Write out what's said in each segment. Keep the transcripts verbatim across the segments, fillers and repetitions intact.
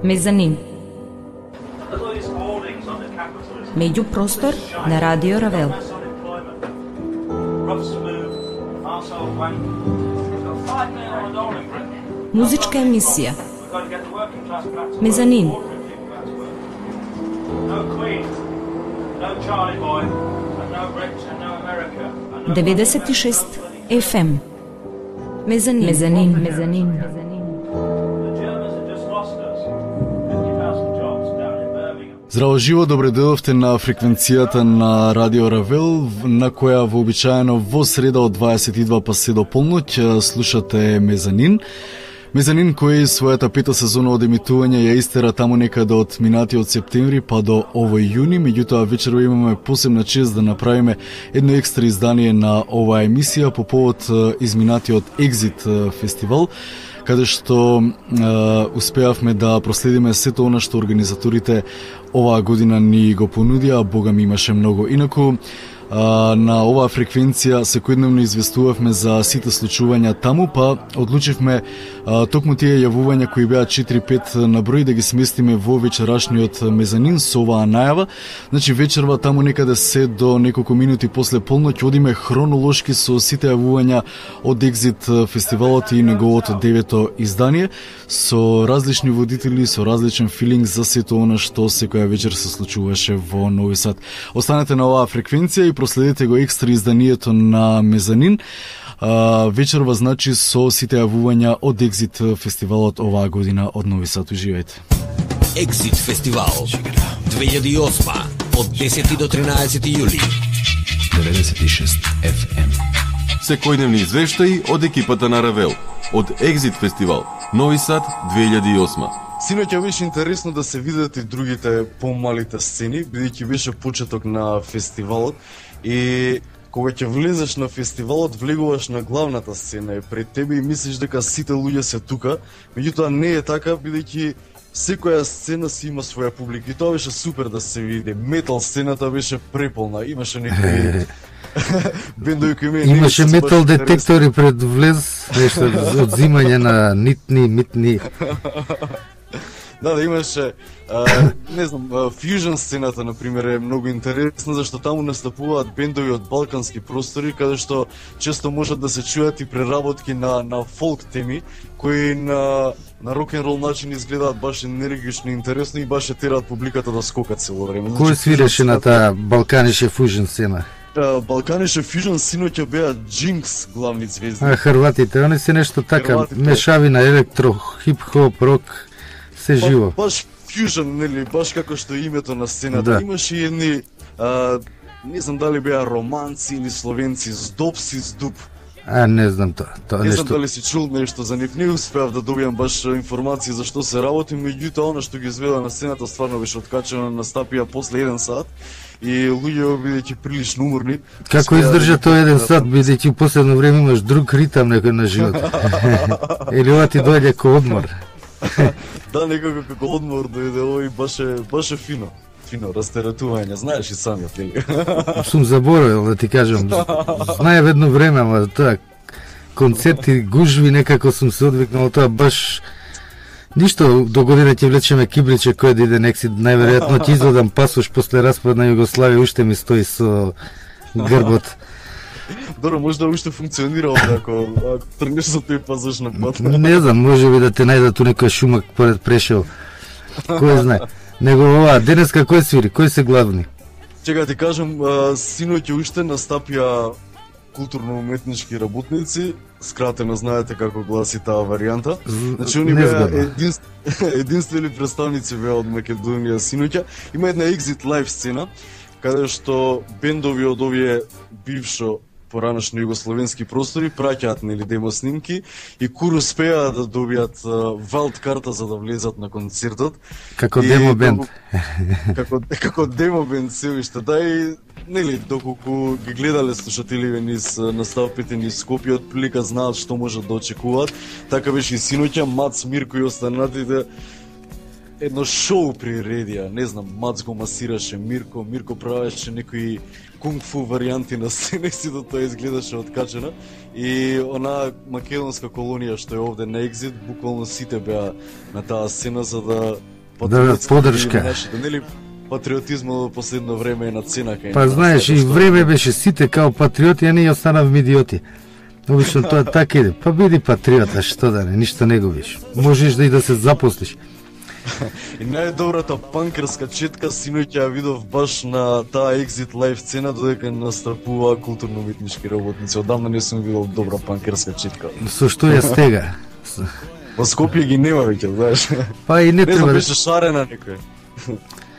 Мезанин. Меѓупростор на Радио Равел. Музичка емисија. Мезанин. деветдесет и шест еф ем. Мезанин. Мезанин. Мезанин. Здраво живо, добре дојдовте на фреквенцијата на Радио Равел, на која вообичаено во среда од дваесет и два па се до полноќ слушате Мезанин. Мезанин кој својата пета сезона од емитување ја истера таму некаде од минатиот септември па до овој јуни, меѓутоа вечерва имаме посебна чест да направиме едно екстра издание на оваа емисија по повод изминатиот Екзит фестивал, каде што е, успеавме да проследиме сето она што организаторите оваа година ни го понудија, а бога ми имаше многу. Инаку, а, на оваа фреквенција секојдневно известувавме за сите случувања таму, па одлучивме а, токму тие јавувања кои беа четири-пет на број да ги сместиме во вечерашниот Мезанин со оваа најава. Значи вечерва таму некаде се до неколку минути после полноќ одиме хронолошки со сите јавувања од Екзит фестивалот и неговото девето издание, со различни водители, со различен филинг за сето она што секоја вечер се случуваше во Нови Сад. Останете на оваа фреквенција и проследете го екстра изданието на Мезанин. А, вечерва значи со сите јавувања од Екзит фестивалот оваа година од Нови Сад. Уживајте. Екзит фестивал две илјади и осма од десети до тринаесети јули. деветдесет и шест еф ем. Секојдневни извештаи од екипата на Равел од Екзит фестивал Нови Сад две илјади и осма. Синоќа беше интересно да се видат и другите помалите сцени, бидејќи беше почеток на фестивалот и кога ќе влезеш на фестивалот, влегуваш на главната сцена и пред тебе и мислиш дека сите луѓе се тука, меѓутоа не е така, бидејќи секоја сцена си има своја публика и тоа беше супер да се види. Метал сцената беше преполна, имаше некои бендови кои ме имаше метал детектори пред влез, нешто одзимање на нитни, митни. Да, да, имаше, а, не знам, фьюжн сцената, например, е многу интересна, зашто таму настапуваат бендови од балкански простори, каде што често можат да се чујат и преработки на, на фолк теми, кои на, на рок-н-рол начин изгледаат баш енергично и интересно и баш терат публиката да скока цело време. Кој свиреше на таа балканише фьюжн сцена? Балканише фьюжн синоќа беа Джинкс главни звезди. А хрватите, они се нешто така, Хрватите. Мешавина електро, хип-хоп, рок, се ба, живо. Баш фьюжн, нели, баш како што е името на сцената. Да. Имаше и едни, а, не знам дали беа романци или словенци, Здоб си здуб. А, не знам тоа. тоа не нешто... знам дали си чул нешто за нив, не успеав да добијам баш информации за што се работи, меѓутоа она што ги изведа на сцената стварно беше откачено, настапија после еден сат и луѓе бидејќи прилично уморни. Како издржа тоа еден сат, бидејќи в последно време имаш друг ритам некој на живот. Или ова ти дојде ко одмор. Да, некако како одмор дојде овој, баше, баше фино. Фино растеретување, знаеш и самиот, нели? Сум заборавил да ти кажам. Знаев едно време, ама тоа концерти, гужви, некако сум се одвикнал тоа баш. Ништо, до година ќе влечеме кибличе кој да иде некси, најверојатно ќе извадам пасош после распад на Југославија, уште ми стои со грбот. Добро, може да уште функционира овде ако, ако тргнеш со тој пасош на пат. Не знам, може би да те најдат у некој шумак поред Прешево. Кој знае. Него ова, денеска кој свири, кој се главни? Чека ти кажам, синоќа уште настапија културно-уметнички работници, скратено знаете како гласи таа варијанта. Значи, они беа единств... единствени представници беа од Македонија синоќа. Има една Екзит лайв сцена, каде што бендови од овие бившо поранешни југословенски простори праќаат нели демо снимки и кур успеа да добијат валд карта за да влезат на концертот. Како и, демо бенд. Како како демо бенд се уште да и нели доколку ги гледале слушателиве низ настапите низ Скопје, од прилика знаат што можат да очекуваат. Така беше и синоќа Мац, Мирко и останатите едно шоу приредија, не знам, Мац го масираше Мирко, Мирко правеше некои кунг-фу варијанти на сцена и сето тоа изгледаше откачено. И она македонска колонија што е овде на Екзит, буквално сите беа на таа сцена за да да поддршка. Нашите, нели, патриотизмот во последно време е на цена кај. Па знаеш, и време беше сите као патриоти, а ние останавме идиоти. Обично тоа така иде. Па биди патриота, што да не, ништо не губиш. Можеш да и да се запослиш. И најдобрата панкерска четка синоќ ја видов баш на таа Exit Live сцена додека настапува културно-уметнички работници. Одамна не сум видел добра панкерска четка. Со што ја стега? Во Скопје ги нема веќе, знаеш. Па и не, не треба. знам, беше шарена некој.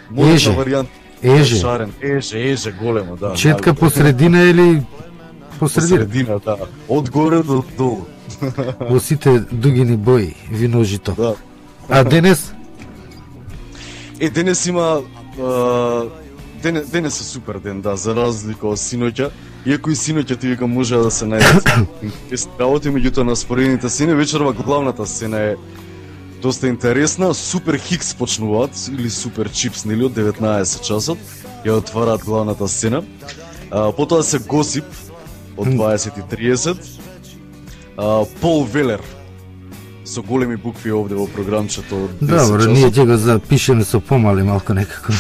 Може варијант. Еже. Шарен, еже, еже големо, да. Четка посредина или посредина? Посредина, да. Од горе до долу. Во сите дугини бои, виножито. Да. А денес? Е, денес има... Uh, денес, денес е супер ден, да, за разлика од синоќа. Иако и синоќа ти вика може да се најдат работи, меѓутоа на споредните сцени, вечерва главната сцена е доста интересна. Супер Хикс почнуваат, или Супер Чипс, нели, од деветнаесет часот, ја отвараат главната сцена. А, потоа се Госип, од дваесет и триесет. А, Пол Велер, со големи букви овде во програмчето од десет Добро, часот. ние ќе го запишеме со помали малку некако.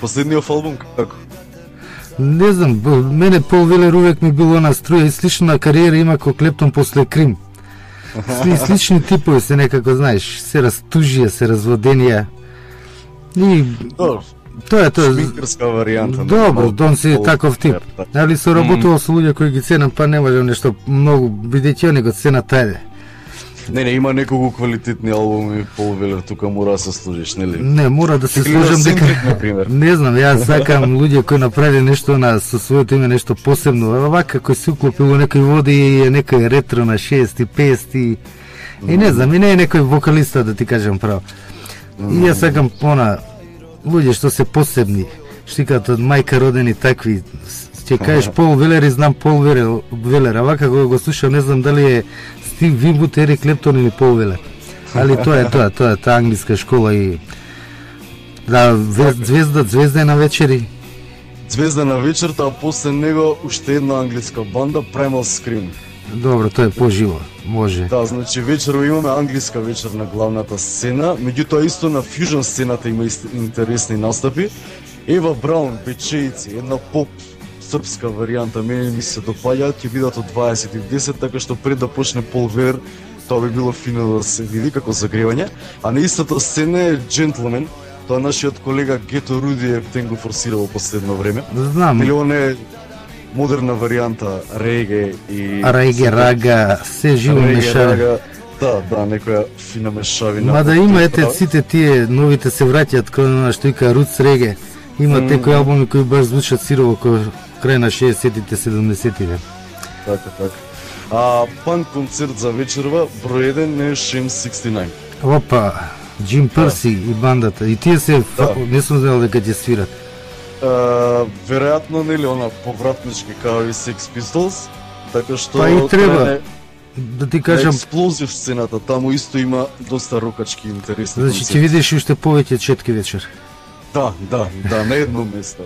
Последниот албум како? Не знам, мене Пол Велер увек ми било на струја и слична кариера има ко Клептон после Крим. Сли, слични типови се некако, знаеш, се растужија, се разводенија. И Добро. тоа е тоа. Шминкерска варијанта. Добро, дон си таков тип. Али се работувал со луѓе кои ги ценам, па не можам нешто многу, бидејќи они го ценат тајде. Не, не, има неколку квалитетни албуми Пол Велер, тука мора да се служиш, нели? Не, мора да се служам дека... Не знам, јас сакам луѓе кои направи нешто на со своето име, нешто посебно. Вака кој се уклопил во некој води и е некој ретро на шеести, петдесети. И не знам, и не е некој вокалиста, да ти кажам право. И јас сакам она луѓе што се посебни, штикат од мајка родени такви. Ќе кажеш Пол Велер и знам Пол Велер, Велер, а вака кога го слушам не знам дали е Стив Винвуд, Ерик Клептон или Пол Велер. Али тоа е тоа, тоа е таа англиска школа и да, звезда, звезда е на вечери. Звезда на вечерта, а после него уште една англиска банда, Primal Scream. Добро, тоа е поживо, може. Да, значи вечерва имаме англиска вечер на главната сцена, меѓутоа исто на фьюжн сцената има интересни настапи. Ева Браун, Печејци, една поп српска варијанта, мене ми се допаѓаат, ќе бидат од дваесет и десет, така што пред да почне Пол Велер, тоа би било фино да се види како загревање. А на истата сцена е Gentleman, тоа нашиот колега Гето Рудиев тен го форсира во последно време. Знам. Или он е модерна варијанта реге и... Реге, рага, се живо мешави. Да, да, некоја фина мешавина. Мада има, ете, сите тие новите се враќаат кон она што ика Roots реге. Има mm. некои албуми кои баш звучат сирово кој крај на шеесеттите, седумдесеттите. Така, така. А панк концерт за вечерва, број еден е Shame шеснаесет. Опа, Джим Перси да. И бандата. И тие се, да. Не сум знал дека ќе свират. Uh, веројатно, нели, она повратнички као и Sex Pistols, така што... Па и треба, да ти кажам... Експлозив сцената, таму исто има доста рокачки интересни значи, концерти. Значи, ќе видиш уште повеќе четки вечер. Да, да, да, на едно место.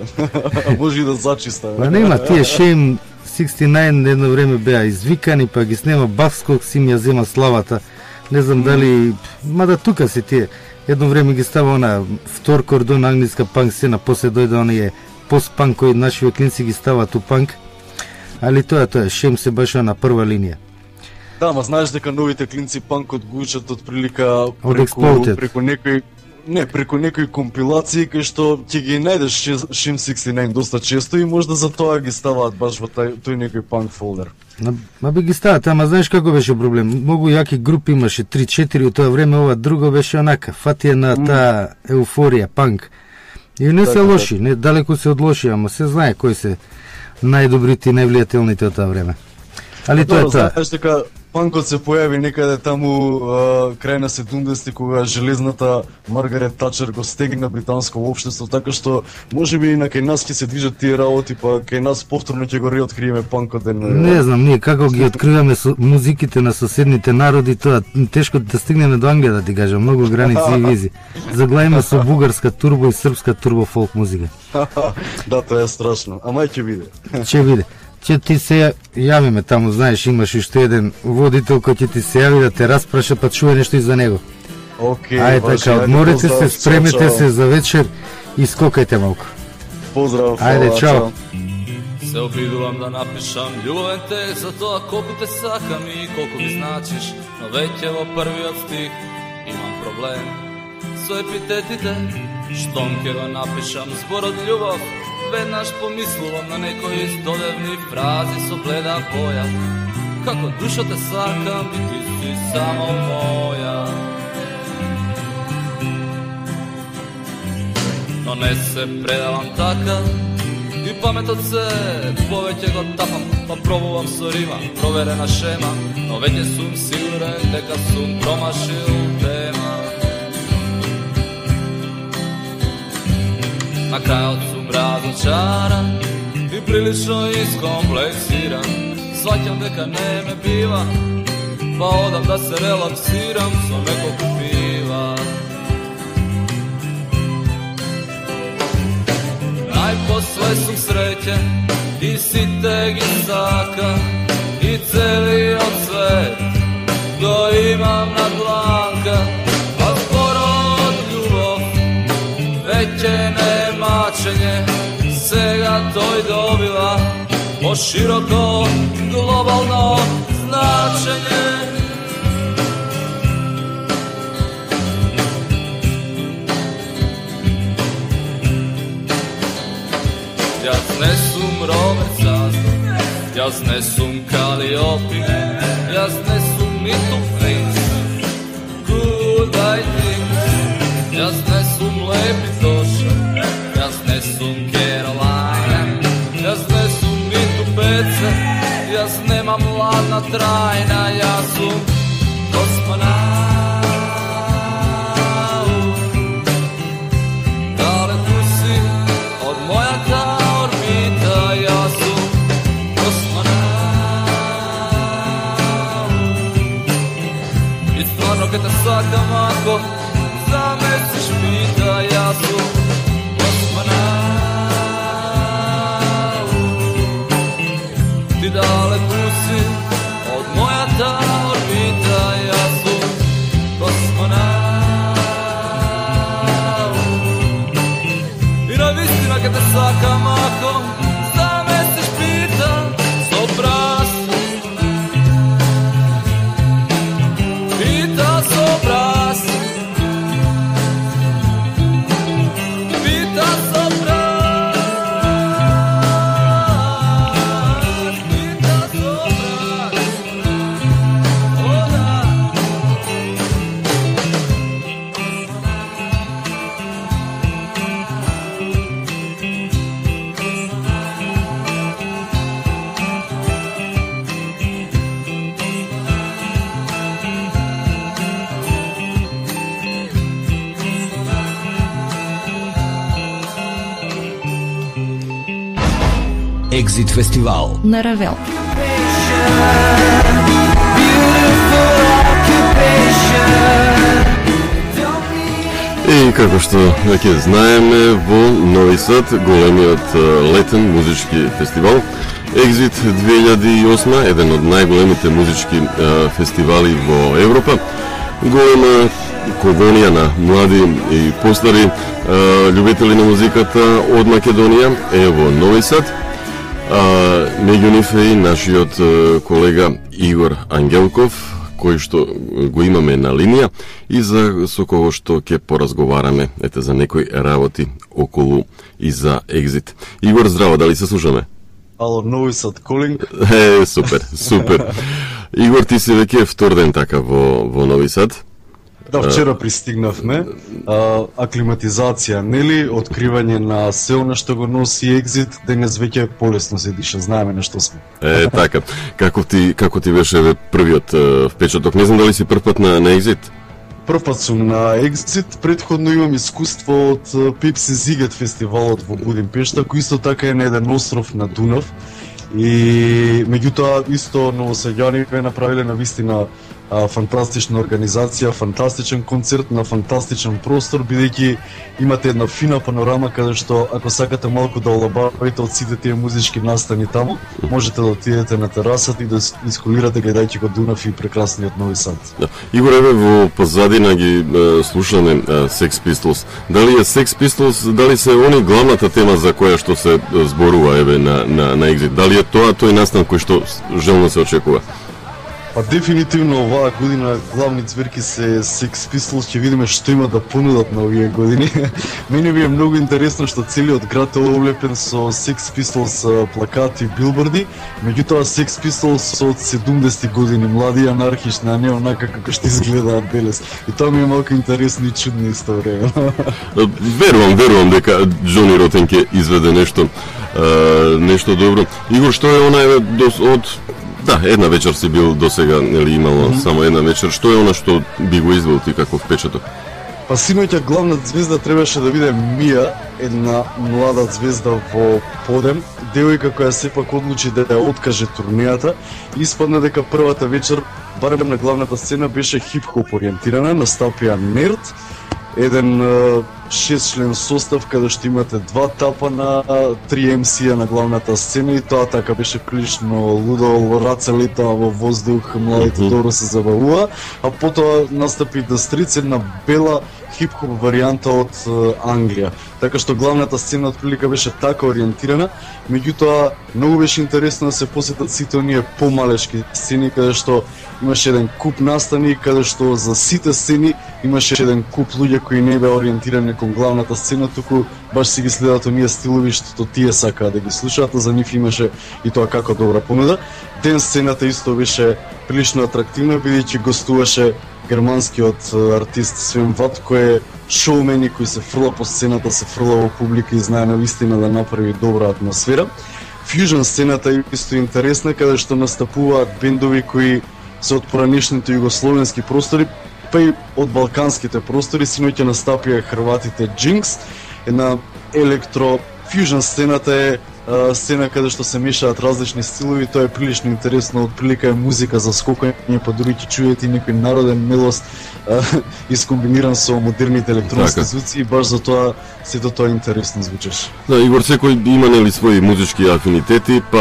Може и да зачиста. Па нема, тие Shame шеснаесет едно време беа извикани, па ги снема Бавског, си ми ја зема славата. Не знам дали... Мада тука се тие. Едно време ги става она втор кордон англиска панк сцена, после дојде оние пост-панк кои нашиве клинци ги ставаат у панк. Али тоа тоа, Шем се баш на прва линија. Да, ма знаеш дека новите клинци панкот го учат од прилика преку, преку некои не, преку некои компилации кај што ќе ги најдеш Шем шеснаесет доста често и можда за тоа ги ставаат баш во тај, тој некој панк фолдер. Ма би ги стават, ама знаеш како беше проблем? Многу јаки групи имаше, три-четири у тоа време, ова друго беше онака, фатија на таа еуфорија, панк. И не се лоши, не далеко се од лоши, ама се знае кои се најдобрите и највлијателните од тоа време. Али тоа е тоа. Знаеш дека панкот се појави некаде таму а, крај на седумдесетти, кога железната Маргарет Тачер го стегна британско општество, така што можеби и на кај нас ќе се движат тие работи, па кај нас повторно ќе го реоткриеме панкот ден. Не знам, ние како ги откриваме со музиките на соседните народи, тоа тешко да стигнеме до Англија, да ти кажам, многу граници и визи. Заглавиме со бугарска турбо и српска турбо фолк музика. Да, тоа е страшно, ама ќе биде. Ќе биде. Ќе ти се јавиме таму, знаеш, имаш уште еден водител кој ќе ти се јави да те распраша, па чуе нешто и за него. Океј, ајде така, одморете се, спремете се за вечер и скокајте малку. Поздрав. Ајде, чао. Се обидувам да напишам љубовен текст за тоа колку те сакам и колку ми значиш, но веќе во првиот стих имам проблем со епитетите. Штом ке го напишам зборот љубов, веднаш помислувам на некои стодевни фрази со бледа боја. Како душо те сакам и ти си само моја. Но не се предавам така и паметот се повеќе го тапам, па пробувам со рима, проверена шема, но веќе сум сигурен дека сум промашил тема. На крајот сум разочаран и прилично искомплексиран. Сваќам дека не ме бива, па одам да се релаксирам со неколку пива. Најпосле сум среќен и сите ги сака и целиот свет го имам на дланка. А зборот љубов веќе не е мачење, сега тој добива пошироко глобално значење. Јас не сум Роберт Сазда, јас не сум Калиопи, јас не сум ниту принц Goodbye things. Јас не сум Лепи Тоша, јас не сум Керолина, јас не сум ниту Пеца, јас немам ладна трајна, јас сум космонавт. Дале ту си од мојата орбита, јас сум космонавт. И стварно ке те сакам ако замесиш пита, јас сум космонавт. Ти далеку си од мојата орбита, јас сум космонавт. И навистина ке те сакам ако замесиш пита со брас. Пита со брас. Пита со брас. Пита со брас. О да. Екзит фестивал на Равел. И како што веќе знаеме, во Нови Сад големиот летен музички фестивал Екзит две илјади и осма, еден од најголемите музички фестивали во Европа. Голема колонија на млади и постари љубители на музиката од Македонија е во Нови Сад. Меѓу нив е и нашиот колега Игор Ангелков, кој што го имаме на линија и за со кого што ќе поразговараме ете за некои работи околу и за Екзит. Игор, здраво, дали се слушаме? Ало, Нови Сад колинг. Е, супер, супер. Игор, ти си веќе втор ден така во во Нови Сад. Да, вчера пристигнавме. А, аклиматизација, нели, откривање на се она што го носи Екзит, денес веќе полесно се диша, знаеме на што сме. Е, така. Како ти како ти беше бе, првиот е, впечаток? Не знам дали си прв пат на, на Екзит? Прв пат сум на Екзит, претходно имам искуство од Пепси Зигет фестивалот во Будимпешта, кој исто така е на еден остров на Дунав. И меѓутоа исто новосаѓани бе направиле на вистина а, фантастична организација, фантастичен концерт на фантастичен простор, бидејќи имате една фина панорама каде што ако сакате малку да олабавите од сите тие музички настани таму, можете да отидете на терасата и да исколирате гледајќи го Дунав и прекрасниот Нови Сад. Да. Игор, еве во позадина ги е, слушаме е, Sex Pistols. Дали е Sex Pistols, дали се они главната тема за која што се зборува еве на на на Exit? Дали е тоа тој настан кој што желно се очекува? Па дефинитивно оваа година главни цвирки се Sex Pistols, ќе видиме што има да понудат на овие години. Мене ми е многу интересно што целиот град е облепен со Sex Pistols плакати и билборди, меѓутоа Sex Pistols од седумдесетти години, млади анархични, а не онака како што изгледаат денес. И тоа ми е малку интересно и чудно исто време. Верувам, верувам дека Џони Ротен ќе изведе нешто нешто добро. Игор, што е она еве од Да, една вечер си бил досега, нели имало mm -hmm. само една вечер. Што е она што би го извел ти како впечаток? Па синоќа главна звезда требаше да биде Мија, една млада звезда во подем, девојка која сепак одлучи да ја откаже турнејата. Испадна дека првата вечер, барем на главната сцена, беше хип-хоп ориентирана, настапија Нерд, еден шестчлен состав каде што имате два тапа на три ем си-а на главната сцена и тоа така беше прилично лудо, раце летаа во воздух, младите добро се забавува, а потоа настапи The Streets, една бела хип-хоп варијанта од Англија. Така што главната сцена отприлика беше така ориентирана, меѓутоа многу беше интересно да се посетат сите оние помалешки сцени каде што имаше еден куп настани, каде што за сите сцени имаше еден куп луѓе кои не беа ориентирани кон главната сцена, туку баш си ги следат оние стилови што тие сакаат да ги слушаат, а за нив имаше и тоа како добра понуда. Ден сцената исто беше прилично атрактивна, бидејќи гостуваше германскиот артист Свен Ват, кој е шоумен и кој се фрла по сцената, се фрла во публика и знае навистина да направи добра атмосфера. Фјужн сцената е исто интересна, каде што настапуваат бендови кои се од поранешните југословенски простори, па и од балканските простори. Синоќа настапија хрватите Jinx, една електро фјужн сцената е сцена каде што се мешаат различни стилови, тоа е прилично интересно, од прилика е музика за скокање, па дури ќе чуете и некој народен мелост искомбиниран со модерните електронски звуци и баш за тоа сето тоа интересно звучеше. Да, Игор, секој има нели своји музички афинитети, па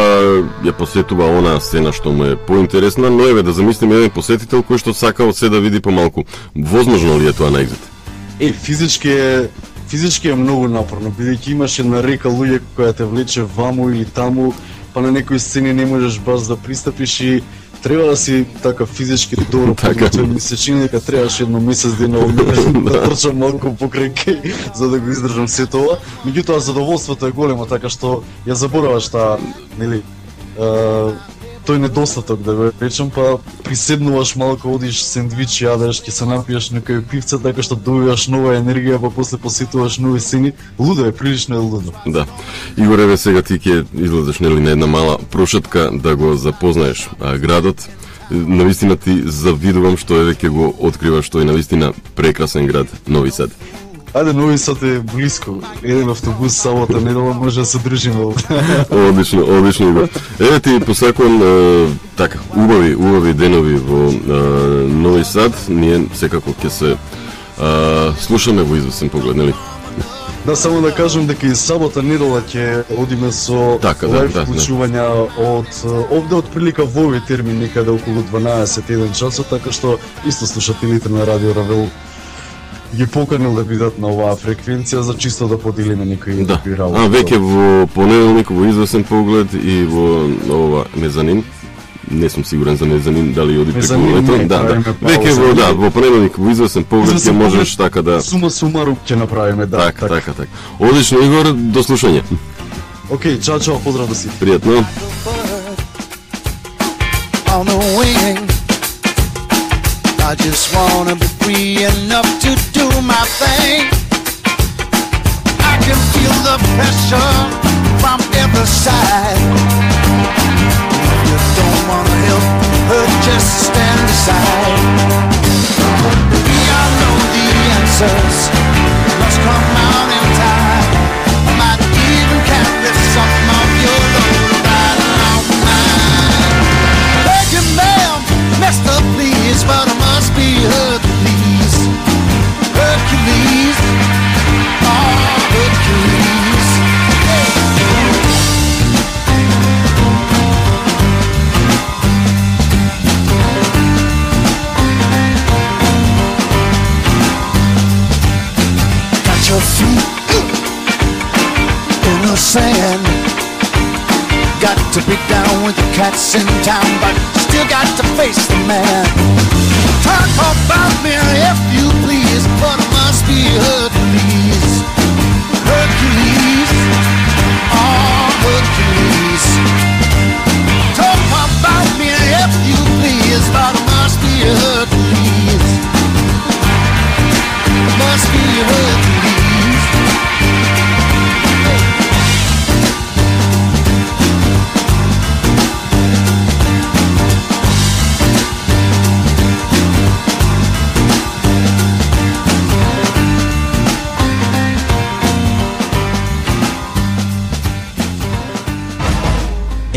ја посетува онаа сцена што му е поинтересна, но еве да замислиме еден посетител кој што сака од се да види помалку. Возможно ли е тоа на Екзит? Е, физички е Физички е многу напорно, бидејќи имаш една река луѓе која те влече ваму или таму, па на некои сцени не можеш баш да пристапиш и треба да си така физички добро подготвен. Ми се чини дека требаше едно месец дена да трчам малку покрај кај за да го издржам се тоа. Меѓутоа задоволството е големо, така што ја забораваш таа, нели, тој недостаток, да го речем, па приседнуваш малку, одиш сендвич, јадеш, ќе се напиеш некој пивце, така што добиваш нова енергија, па после посетуваш нови сцени. Лудо е, прилично е лудо. Да. Игор, еве сега ти ќе излезеш нели на една мала прошетка да го запознаеш а, градот. Навистина ти завидувам што еве ќе го откриваш тој навистина прекрасен град Нови Сад. Ајде, Нови Сад е блиско. Еден автобус сабота недела може да се држиме овде. Одлично, одлично Игор. Еве ти посакувам е, така убави, убави денови во е, Нови Сад. Ние секако ќе се е, слушаме во известен поглед, нели? Да, само да кажам дека и сабота недела ќе одиме со така, да, лайв да, вклучувања да. од овде од прилика во овој термин некаде околу дванаесет еден часот, така што исто слушателите на Радио Равел ги поканил да бидат на оваа фреквенција за чисто да поделиме некои да. работи. А веќе во понеделник во известен поглед и во ова Мезанин. Не сум сигурен за Мезанин дали оди преку лето. Да, да. Веќе во да, во понеделник во известен поглед ќе можеш така да сума сумарум ќе направиме, да. Така, така, така. Одлично Игор, до слушање. Океј, чао, чао, поздрав до сите. Пријатно. I just wanna be free enough to do my thing. I can feel the pressure from every side. If you don't wanna help her, just stand aside. We all know the answers must come out in time. I might even carry some of your load right along mine. Beg you, ma'am, mister, please, but I must be Hercules. Hercules, oh Hercules. Hey. Got your feet in the sand. Got to be down with the cats in town, but still got to face the man. Talk about me if you please, but it must be Hercules. Hercules, oh Hercules. Talk about me if you please, but it must be Hercules. Must be Hercules.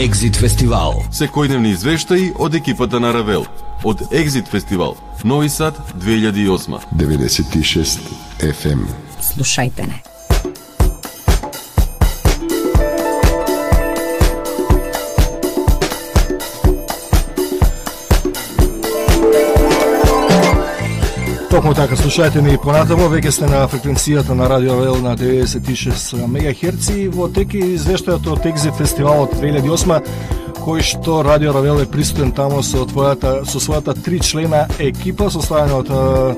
Екзит фестивал. Секојдневни извештаи од екипата на Равел. Од Екзит фестивал Нови Сад две илјади и осма. деветдесет и шест еф ем. Слушајте не. Токму така, слушајте ни понатамо, веќе сте на фреквенцијата на Радио Равел на деветдесет и шест мегахерци во теки извештајот од Екзит фестивалот две илјади и осма, кој што Радио Равел е присутен таму со твојата со својата три члена екипа составена од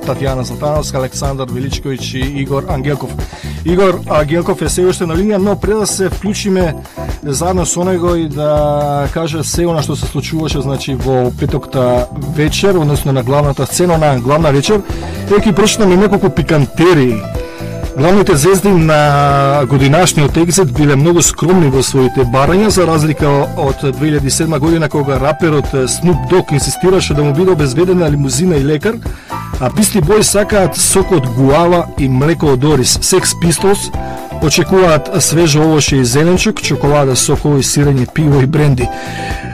Татјана Златановска, Александар Величковиќ и Игор Ангелков. Игор Ангелков е се уште на линија, но пред да се вклучиме заедно со него и да каже се она што се случуваше, значи во петокта вечер, односно на главната сцена на главна вечер, еки прочитаме неколку пикантерии. Главните звезди на годинашниот Екзит биле многу скромни во своите барања, за разлика од две илјади и седма година кога раперот Snoop Dogg инсистираше да му биде обезбедена лимузина и лекар, а Beastie Boys сакаат сок од гуава и млеко од ориз. Sex Pistols очекуваат свежо овоше и зеленчук, чоколада, сокови, сирење, пиво и бренди.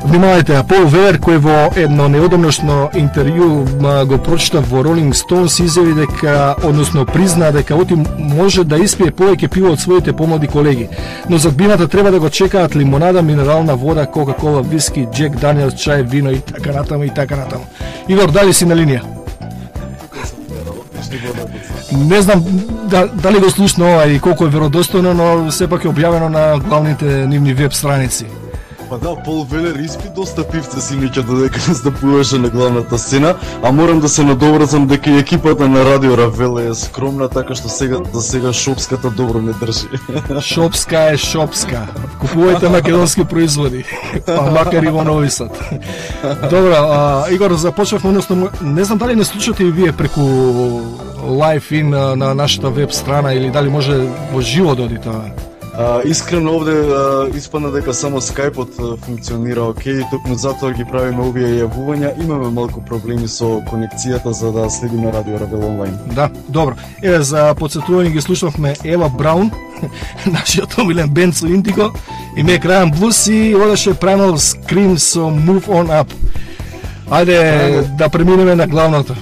Внимавајте, а Пол Велер, кој во едно неодамношно интервју го прочита во Rolling Stones, изјави дека, односно призна дека оти може да испие повеќе пиво од своите помлади колеги, но за бината треба да го чекаат лимонада, минерална вода, кока-кола, виски, Джек Даниелс, чај, вино и така натаму и така натаму. Игор, дали си на линија? Не знам да, дали го слушна ова и колку е веродостојно, но сепак е објавено на главните нивни веб страници. Па да, Пол Велер испи доста пивце синоќа додека настапуваше на главната сцена, а морам да се надоврзам дека и екипата на Радио Равел е скромна, така што сега за сега шопската добро не држи. Шопска е шопска. Купувајте македонски производи, па макар и во Нови Сад. Добро, а, Игор, започнавме, односно, не знам дали не слушате и вие преку лайв ин на нашата веб страна или дали може во живо да оди тоа? А, искрено овде а, испадна дека само скајпот а, функционира окей, токму затоа ги правиме овие јавувања. Имаме малку проблеми со конекцијата за да следиме Радио Равел онлайн. Да, добро. Еве за потсетување ги слушнавме Ева Браун, нашиот омилен бенд со Индиго, и Мек Рајан Блус и одеше Primal Scream со Move On Up. Ајде Primal... да преминеме на главното.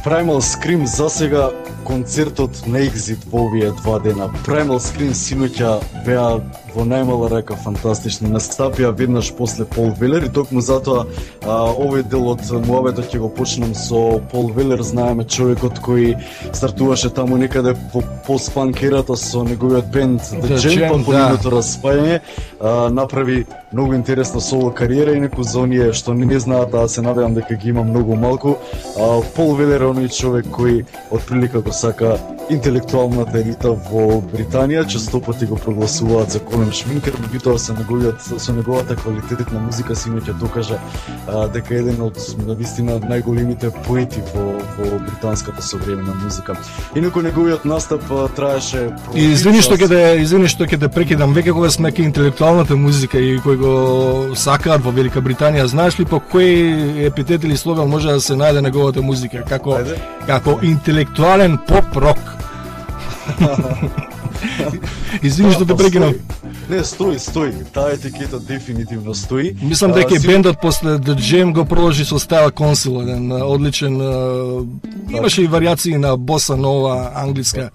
Primal Scream за сега концертот на Екзит во овие два дена. Primal Scream синоќа беа во најмала рака фантастични. Настапија веднаш после Пол Велер и токму затоа а, овој дел од муабетот ќе го почнам со Пол Велер. Знаеме човекот кој стартуваше таму некаде во пост-панк ерата со неговиот бенд The Jam, па по нивното распајање а, направи многу интересна соло кариера и некој за оние што не знаат, а се надевам дека ги има многу малку. А, Пол Велер е оној човек кој од прилика го сака интелектуалната елита во Британија, често пати го прогласуваат за Колин Шминкер, меѓутоа со неговиот со неговата квалитетна музика синоќа докажа а, дека е еден од навистина најголемите поети во во британската современа музика. Инаку неговиот настап а, траеше И извини што ќе да извини што ќе да прекидам, веќе кога сме ке интелектуалната музика и кој го сакаат во Велика Британија, знаеш ли по кој епитет или слоган може да се најде неговата музика како Ајде. како интелектуален поп-рок? Извини што те прекинав. Не, стои, стои. Таа етикета дефинитивно стои. Мислам дека и бендот после The Jam го продолжи со Style Council, еден одличен, имаше и варијации на боса нова, англиска.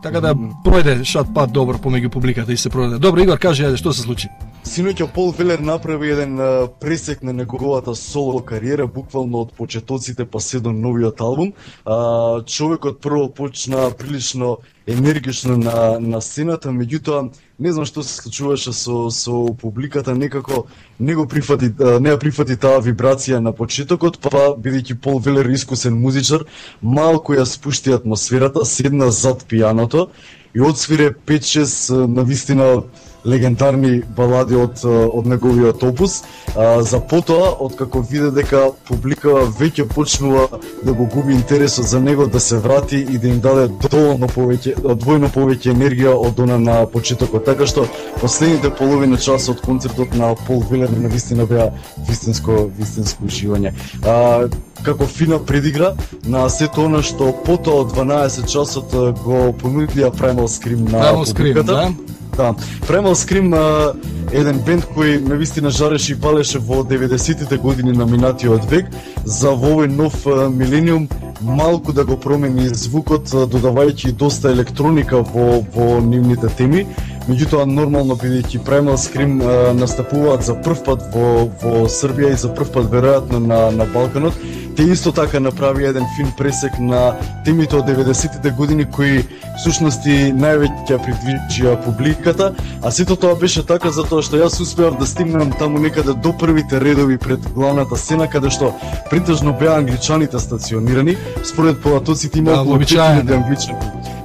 Така да пројде шат пат добро помеѓу публиката и се продаде. Добро, Игор, кажи, ајде, што се случи? Синоќа Пол Велер направи еден а, пресек на неговата соло кариера, буквално од почетоците па се до новиот албум. А, човекот прво почна прилично енергично на на сцената, меѓутоа не знам што се случуваше со со публиката, некако не го прифати, не ја прифати таа вибрација на почетокот, па бидејќи Пол Велер искусен музичар, малку ја спушти атмосферата, седна зад пијаното и одсвире пет-шест навистина легендарни балади од од неговиот опус, а, за потоа откако виде дека публика веќе почнува да го губи интересот за него, да се врати и да им даде доволно повеќе, двојно повеќе енергија од она на почетокот. Така што последните половина час од концертот на Пол Велер навистина беа вистинско вистинско уживање. А, како фина предигра на сето она што потоа од дванаесет часот го понудија Primal Scream на Primal публиката. Scream, да? Да, Primal Scream е еден бенд кој навистина жареше и палеше во деветдесетите години на минатиот век, за во овој нов милениум малку да го промени звукот, додавајќи доста електроника во во нивните теми. Меѓутоа нормално бидејќи Primal Scream а, настапуваат за прв пат во во Србија и за прв пат веројатно на на Балканот, те исто така направи еден фин пресек на темите од деветдесетите години кои всушност и највеќе придвижија публиката, а сето тоа беше така затоа што јас успеав да стигнам таму некаде до првите редови пред главната сцена, каде што претежно беа англичаните стационирани. Според полатоците има околу пет илјади англичани.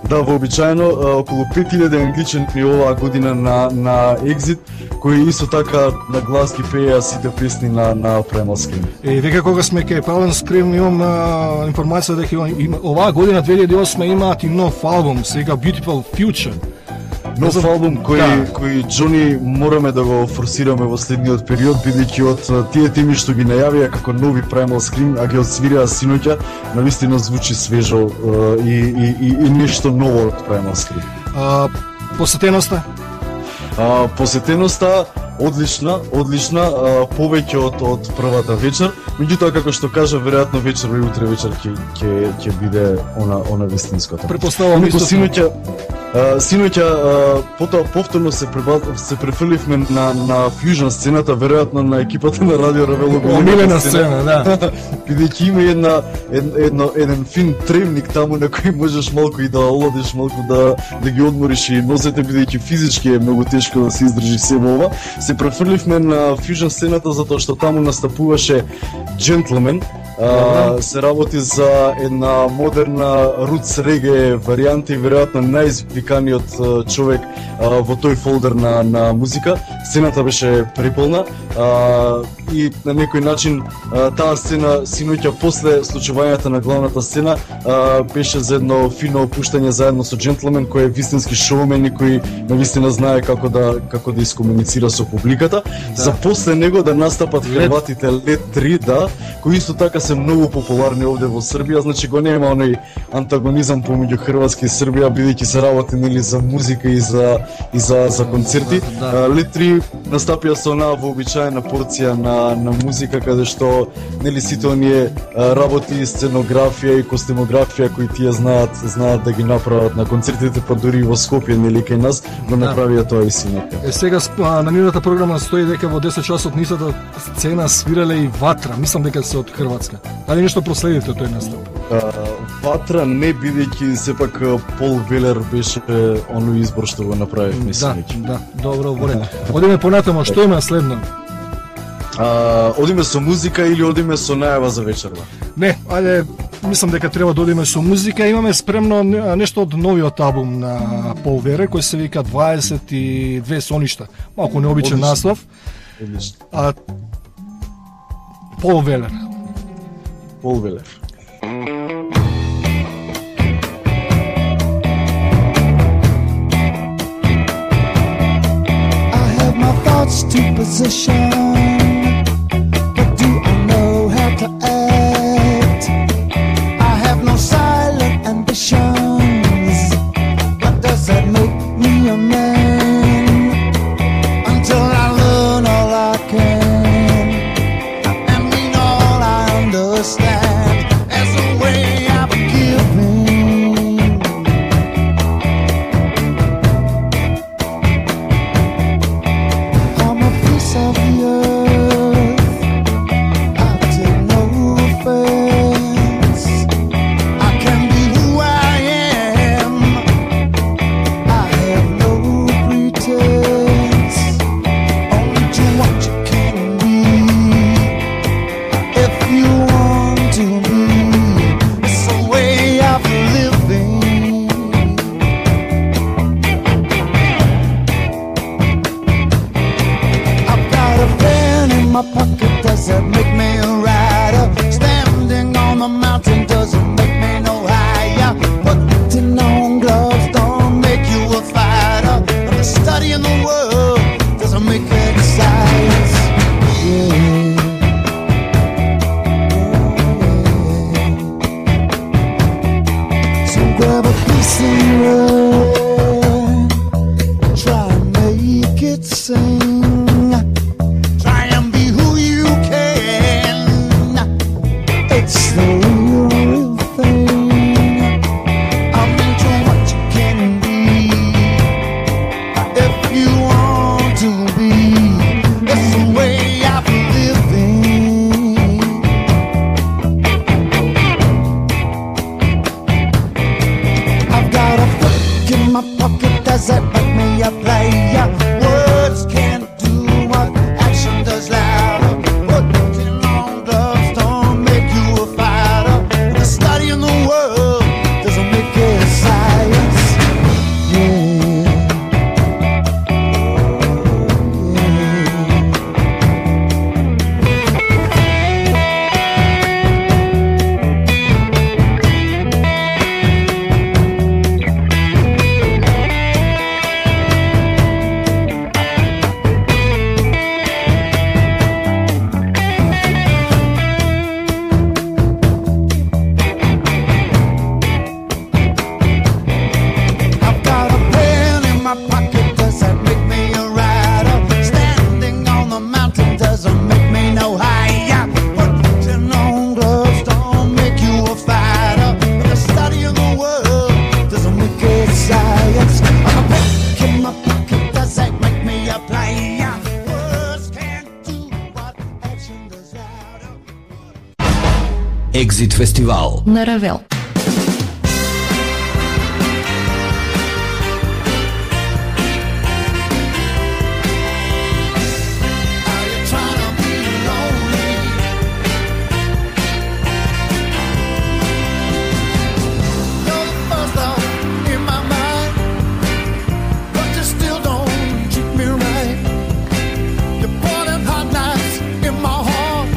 Да, вообичаено околу пет илјади англичани оваа година на на Exit, кои исто така на глас ги пееа сите песни на на Primal Scream. Е, века кога сме кај Primal Scream имам а, информација дека има, оваа година две илјади и осма имаат и нов албум, сега Beautiful Future. Нов албум кој да. кој Џони мораме да го форсираме во следниот период, бидејќи од тие теми што ги најавија како нови Primal Scream, а ги одсвирија синоќа, навистина звучи свежо и, и, и, и нешто ново од Primal Scream. А, посетеноста? А, посетеноста одлична, одлична, а, повеќе од од првата вечер. Меѓутоа како што кажа, веројатно вечер и утре вечер ќе ќе ќе биде она она вистинското. Претпоставувам исто. Синоќа Uh, синоќа uh, потоа повторно се пребаз... се префрливме на на фјужн сцената, веројатно на екипата на Радио Равел. Омилена сцена, да. Бидејќи има една едно еден фин тремник таму на кој можеш малку и да оладиш, малку да да ги одмориш и нозете, бидејќи физички е многу тешко да се издржи себе ова. Се префрливме на фјужн сцената затоа што таму настапуваше Gentleman. Uh, се работи за една модерна рутс реге варијанта и веројатно најизвиканиот uh, човек uh, во тој фолдер на, на музика. Сцената беше преполна uh, и на некој начин uh, таа сцена синоќа после случувањата на главната сцена uh, беше за едно фино опуштање заедно со Gentleman, кој е вистински шоумен и кој навистина знае како да како да искомуницира со публиката. Да. За после него да настапат хрватите Лед три, да, кои исто така се многу популарни овде во Србија, значи го нема оној антагонизам помеѓу Хрватска и Србија, бидејќи се работи нели за музика и за и за за концерти. Да, да. Лед три настапија со онаа вообичаена порција на на музика, каде што нели сите оние работи, сценографија и костимографија кои тие знаат знаат да ги направат на концертите, па дури во Скопје нели кај нас го направија тоа и синоќа. Е сега на нивната програма стои дека во десет часот нисата сцена свирале и Ватра, мислам дека се од Хрватска. Дали нешто проследите тој настап? Ватра не, бидејќи сепак Пол Велер беше оној избор што го направивме синоќа. Да, да, добро, во ред. Одиме понатамо, што има следно? А, одиме со музика или одиме со најава за вечерва? Не, ајде мислам дека треба да одиме со музика. Имаме спремно нешто од новиот албум на Пол Вере, кој се вика дваесет и две соништа. Малку необичен наслов. А Пол Велер. Пол Велер. I have my thoughts to position, but do I know how to act? I have no silent ambitions, but does that make me a man? Until I learn all I can and mean all I understand as a way of giving. I'm a piece of the earth, I take no offense. I can be who I am, I have no pretense. Only do what you can be if you want to be. It's a way of living. I've got a pen in my pocket, does that make me a rider? Standing on the mountain doesn't make me no higher. Putting on gloves don't make you a fighter. But the studying the world doesn't make it science. Yeah. So grab a piece of wood, try and make it sing. Try and be who you can. It's the real thing. I'm into what you can be if you want to be. It's the way of living. I've got a book in my pocket, does that make me a player? Words can't do what action does louder. Putting on gloves don't make you a fighter. The study in the world doesn't make it science. Yeah. I've got a pen in my pocket, does that make me a rider? Standing on the mountain doesn't make me no higher. Putting on gloves don't make you a fighter. But the study of the world doesn't make it science. I'm a book in my pocket, does that make me a player? Words can't do what action does louder. Екзит фестивал. На Равел. Are you trying to be lonely? You're the first thought in my mind, but you still don't treat me right. You're pouring hot nights in my heart.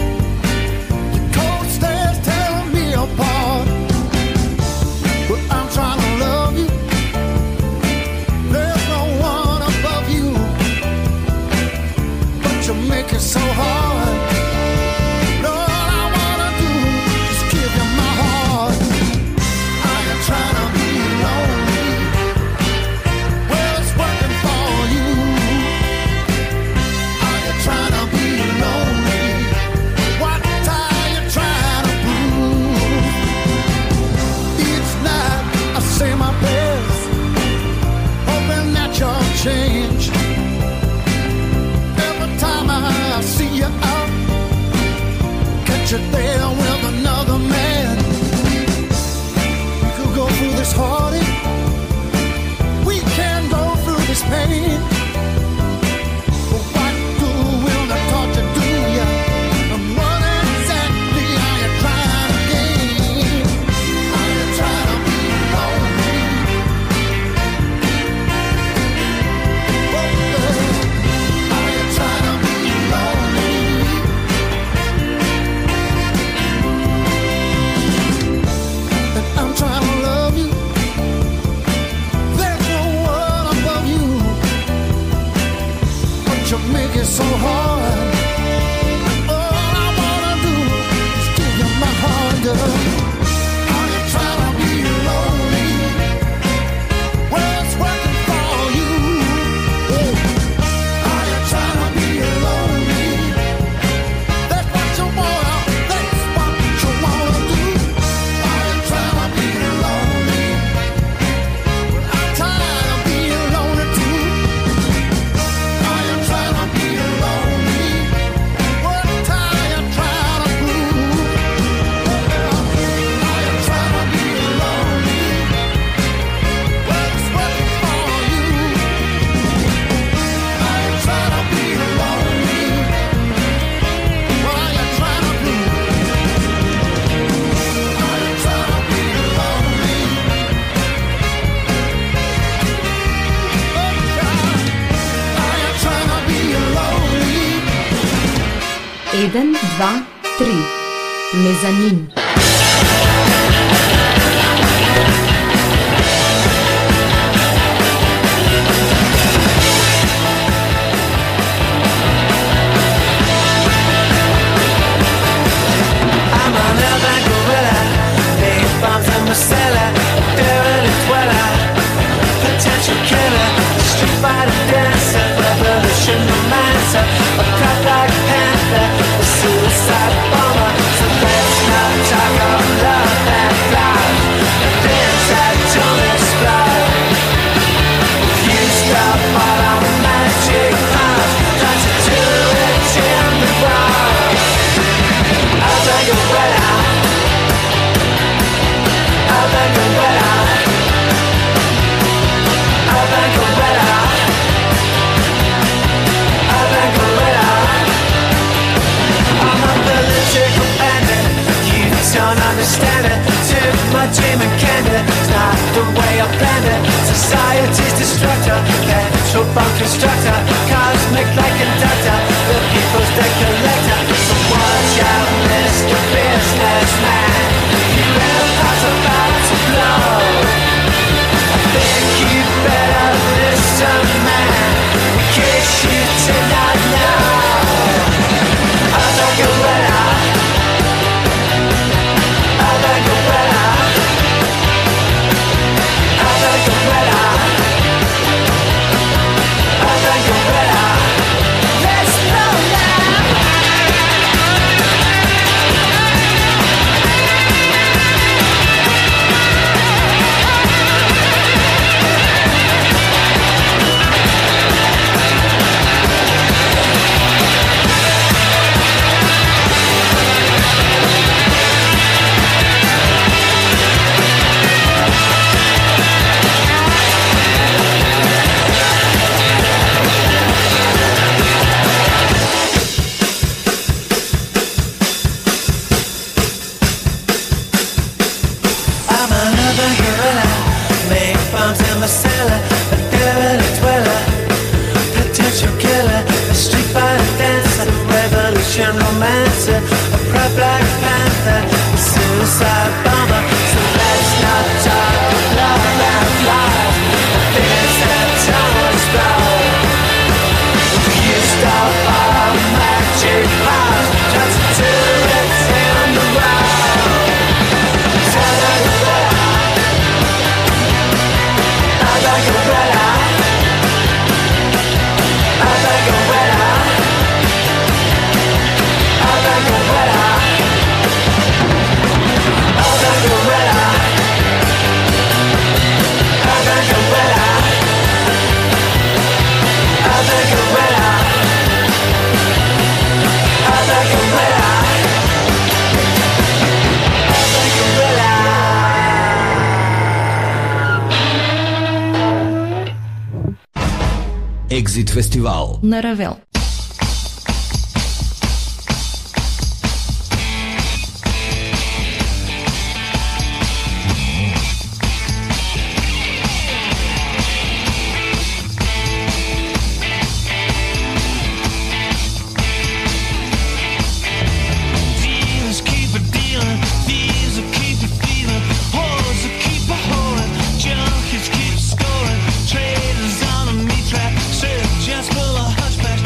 Your cold stares tearing me apart. But I'm trying to love you. There's no one above you, but you make it so hard. All I wanna do is give you my heart. I am trying to be lonely. Well, it's working for you. Are you trying to be lonely? What are you trying to prove? Each night I say my prayers, hoping that you'll change. Every time I see you out, catch you there with another man. We could go through this heartache, we can go through this pain. But what good will the torture do ya? And what exactly are you trying to gain? you make it so hard? All I wanna do is give you my heart, girl. Are you trying to be lonely? Well, it's working for you. Are you trying to be lonely? That's what you wanna, that's what you wanna do. Are you trying to be lonely? Well, I'm tired of being lonely too. Are you trying to be lonely? What time you trying to prove? Are you trying to be lonely? What's working for you? Are you trying to be lonely? What are you trying to prove? Are you trying to be lonely? Are you trying to be lonely? Еден, два, три. Мезанин. I'm an urban gorilla, big bombs in my cellar, a dirty dweller, potential killer, street fighter dancer, revolution romancer, a cop like panther, a suicide bomber. So let's not talk of love and love, the things that don't explode. If you stop all our magic powers, try to do it in the world. I'll take a wet out. I'll take a wet out. I'll take a wet out. I'll take a wet out. I'm a political bandit. You don't understand it. Took my dream and canned it. It's not the way I planned it. Society's destructor, petrol bomb constructor, cosmic light conductor, the people's debt collector. So watch out, Mister Businessman. Your empire's about to blow. I think you better listen, man, in case you did not know. I'll take a wet out. I'll take a wet out. I'll take a wet out. I'll take a wet out. Let's go now. I'm another gorilla, make bombs in my cellar, a dirty dweller, potential killer, a street fighter dancer, a revolution romancer, a proud black panther, a suicide bomber. So let's not talk of love and life, the things that don't explode. If you stop all our magic powers, try to do it in the world. I'll take a wet out. I'll take a wet out. I'll take a wet out. I'll take a wet out. I'll take a wet out. I'll take a wet out. I'll take a wet out. I'll take a wet out. I'll take a wet out. Екзит фестивал На Равел. Dealers keep a dealing, thieves will keep a feeling, whores will keep a whoring, junkies keep scoring, traders on a meat track, just full of hush patch.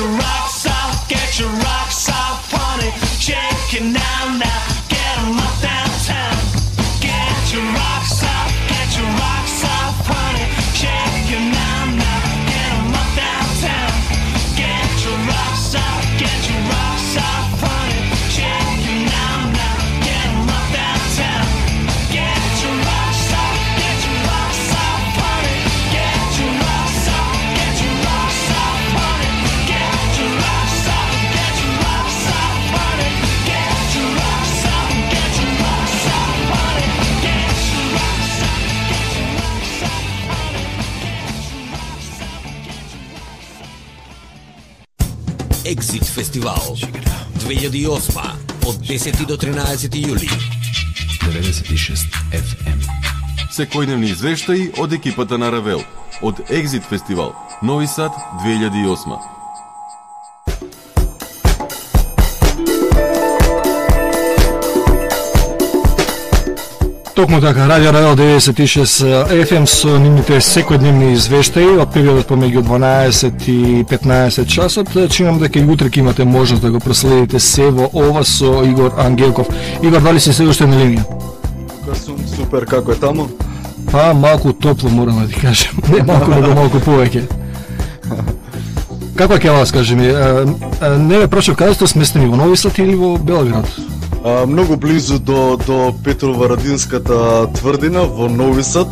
your rocks off, get your rocks off, honey. Shake it now, now, get 'em up downtown. Get your rocks off, get your rocks off, honey. Shake it now, now, get 'em up downtown. Get your rocks off, get your rocks off, honey. Shake it now, now, get 'em up downtown. Get your rocks off, get your rocks off, honey. Get your rocks off, get your rocks off, honey. Get your rocks off, get your rocks off, honey. Get your rocks off, get your rocks off, honey. Get your rocks off, get your rocks off, honey. Exit Фестивал две илјади и осма од десети до тринаесети јули. деветдесет и шест еф ем. Секојдневни извештаи од екипата на Равел од Exit Фестивал Нови Сад две илјади и осма. Токму така, Радио Равел деветдесет и шест еф ем со нивните секојдневни извештаи од периодот помеѓу дванаесет и петнаесет часот. Чинам дека и утре ќе имате можност да го проследите сево ова со Игор Ангелков. Игор, дали си се уште на линија? Тука сум супер, како е таму? Па, малку топло морам да ти кажам. Не малку, него малку повеќе. Како ќе вас кажи ми? Не ме прашав, каде сте сместени, во Нови Сад или во Белград? А, многу близу до, до Петрово-Радинската тврдина во Нови Сад,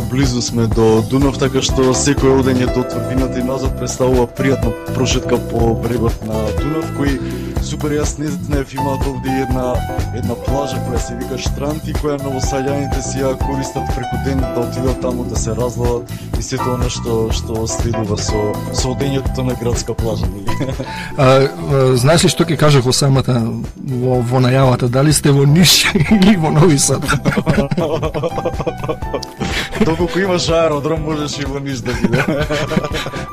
близу сме до Дунав, така што секој одење до тврдината и назад представува пријатна прошетка по брегот на Дунав, кој супер, јас не знаев, имаат овде една една плажа која се вика Штрант и која новосаѓаните си ја користат преку ден да отидат таму да се разладат и сето она што што следува со со одењето на градска плажа. А, а, знаеш ли што ќе кажах во самата во, во најавата, дали сте во Ниш или во Нови Сад? Доколку имаш аеродром, можеш и во Ниш да биде.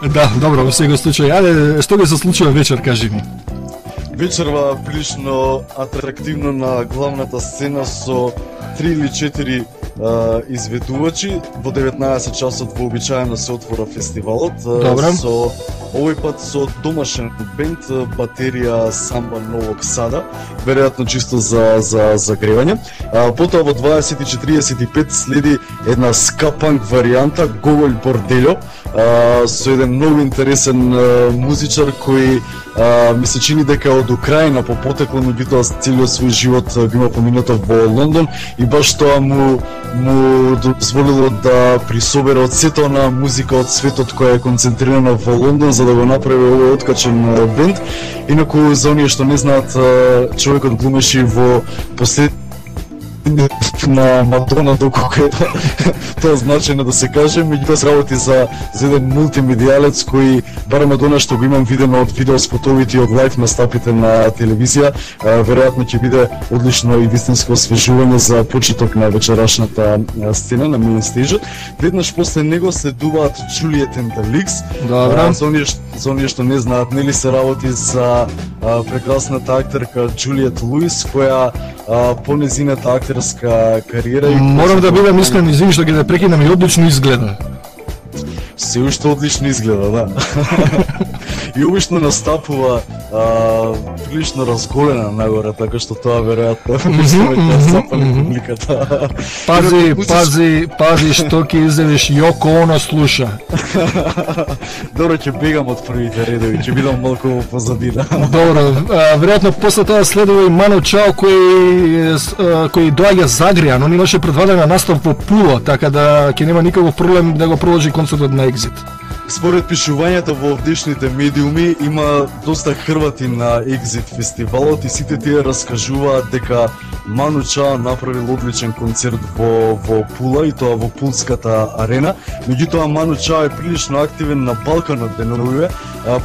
Да, добро, во секој случај. Ајде, што ќе се случува вечер, кажи ми? Вечерва прилично атрактивно на главната сцена со три или четири а, изведувачи. Во деветнаесет часот вообичаено се отвора фестивалот. Добре. Со овој пат со домашен бенд, батерија Самба Новог Сада, веројатно чисто за за загревање. А, потоа во дваесет и четириесет и пет следи една скапанк варијанта Гоголј Борделјо, а, со еден многу интересен а, музичар кој а, ми се чини дека од Украина по потекло, меѓутоа целиот свој живот го има поминато во Лондон и баш тоа му му дозволило да присобере од сето на музика од светот која е концентрирана во Лондон за да го направи овој откачен бенд. Инаку за оние што не знаат, човекот глумеше во послед на Мадона, доколку е тоа значено да се каже, меѓутоа се работи за, за еден мултимедијалец кој, барем од она што го имам видено од видеоспотовите и од лайф настапите на телевизија, веројатно ќе биде одлично и вистинско освежување за почеток на вечерашната сцена на меин стейжот. Веднаш после него следуваат Juliet and the Leaks. Добра. За оние, за оние што не знаат, нели се работи за а, прекрасната актерка Джулиет Луис, која а, по незината актерска кариера и Морам да бидам искрен, извини што ќе те прекинам, и одлично изгледа. Се уште одлично изгледа, да. И обично настапува а, прилично разголена нагоре, така што тоа веројатно ќе запали публиката. Пази, пази, пази што ќе изедеш, Јоко Оно слуша. Добро, ќе бегам од првите редови, ќе бидам малку позадина. Добро, веројатно после тоа следува и Ману Чао кој кој доаѓа загреан, он имаше предвидена настап во Пула, така да ќе нема никаков проблем да го продолжи концертот на Exit. Според пишувањата во овдешните медиуми има доста хрвати на Exit фестивалот и сите тие раскажуваат дека Ману Чао направил одличен концерт во во Пула и тоа во Пулската арена. Меѓутоа Ману Чао е прилично активен на Балканот деновиве.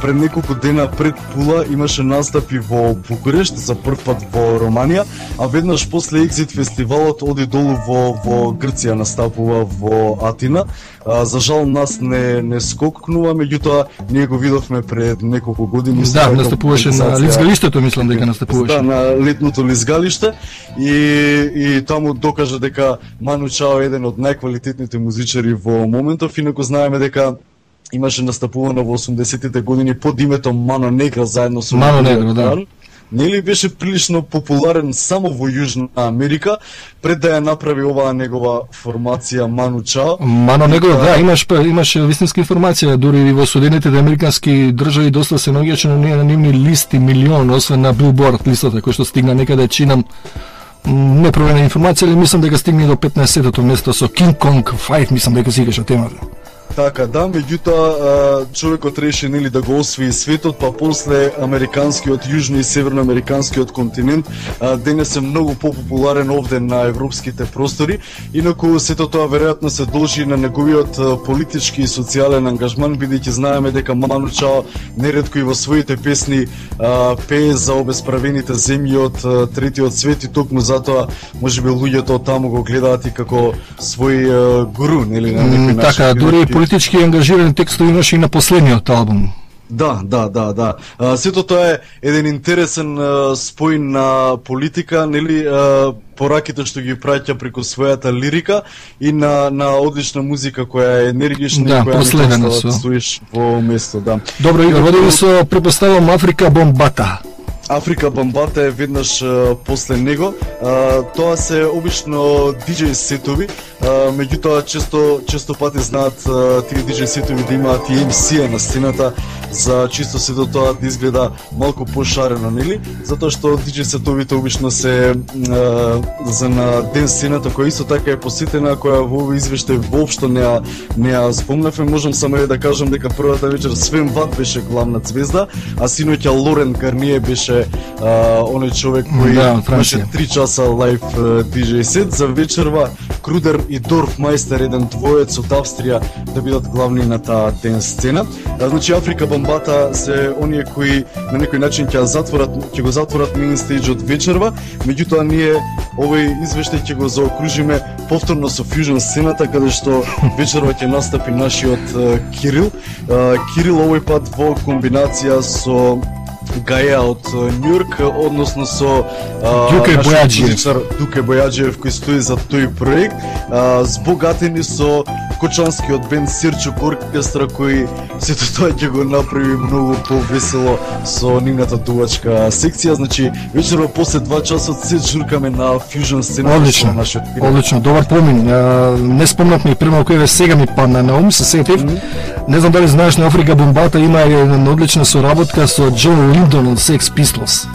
Пред неколку дена пред Пула имаше настапи во Букурешт, за прв пат во Романија, а веднаш после Exit фестивалот оди долу во во Грција, настапува во Атина. За жал нас не не скокнува, меѓутоа ние го видовме пред неколку години. Да, настапуваше на лизгалиштето, мислам дека настапуваше. Да, на летното лизгалиште и и таму докажа дека Ману Чао е еден од најквалитетните музичари во моментов, инаку знаеме дека имаше настапувано во осумдесетите години под името Мано Негра заедно со Мано Негра, да. Нели беше прилично популарен само во Јужна Америка, пред да ја направи оваа негова формација Ману Чао. Мано Негра, да, имаш имаше вистинска информација, дури и во Соединетите американски држави доста се наоѓаше на нивни листи милион, освен на Билборд листата кој што стигна некаде чинам непроверена информација, или мислам дека стигне до петнаесеттото место со King Kong пет, мислам дека си играше темата. Така, да, меѓутоа човекот реши нели да го освои светот, па после американскиот, јужно и северноамериканскиот континент денес е многу популарен овде на европските простори. Инаку сето тоа веројатно се должи на неговиот политички и социјален ангажман, бидејќи знаеме дека Ману Чао неретко и во своите песни а, пее за обесправените земји од третиот свет и токму затоа можеби луѓето од таму го гледаат и како свој а, гуру, нели на некој начин. Така, дури политички ангажирани текстови имаше и на последниот албум. Да, да, да, да. А, сето тоа е еден интересен а, спој на политика, нели, а, пораките што ги праќа преку својата лирика и на на одлична музика која е енергична да, и која последена не стоиш во место, да. Добро, Игор, водиме со препоставам Африка Бомбата. Африка Бомбата е веднаш а, после него. А, тоа се обично диџеј сетови, а, меѓутоа често често пати знаат а, тие диџеј сетови да имаат и ем си на сцената за чисто сето тоа да изгледа малку пошарено, нели? Затоа што диџеј сетовите обично се а, за на ден сцената која исто така е посетена, која во овој извештај воопшто не ја не ја спомнавме. Можам само да кажам дека првата вечер Свен Ват беше главна ѕвезда, а синоќа Лорен Гарние беше Uh, оној човек кој да, имаше три часа лайв uh, диџеј сет. За вечерва Крудер и Дорф Мајстер, еден двоец од Австрија, да бидат главни на таа ден сцена. Uh, значи Африка Бомбата се оние кои на некој начин ќе затворат, ќе го затворат мейн стејџот вечерва, меѓутоа ние овој извештај ќе го заокружиме повторно со фјужн сцената, каде што вечерва ќе настапи нашиот uh, Кирил. Uh, Кирил овој пат во комбинација со Гаја од Њујорк, односно со Дуке Бојаджиев. Дуке Бојаджиев кој стои за тој проект, а, збогатени со кочанскиот бенд Сирчук оркестра кој сето тоа ќе го направи многу повесело со нивната дувачка секција. Значи вечерва после два часот се журкаме на фјужн сцена. Одлично, нашиот одлично, добар помин. Не спомнавме премалку еве сега ми падна на ум, се сетив. Mm -hmm. Не знам дали знаеш, на Африка Бомбата има една одлична соработка со Џон Линдон од Sex Pistols.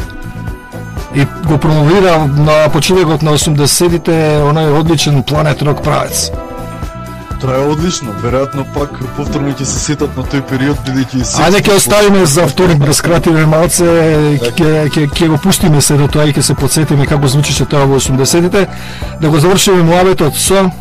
И го промовира на почетокот на осумдесетите онај одличен Planet Rock правец. Тоа е одлично, веројатно пак повторно ќе се сетат на тој период, бидејќи се. Ајде ќе оставиме за вторник да скратиме малце, ќе ќе ќе го пуштиме се до тоа и ќе се потсетиме како звучеше тоа во осумдесетите, да го завршиме муабетот со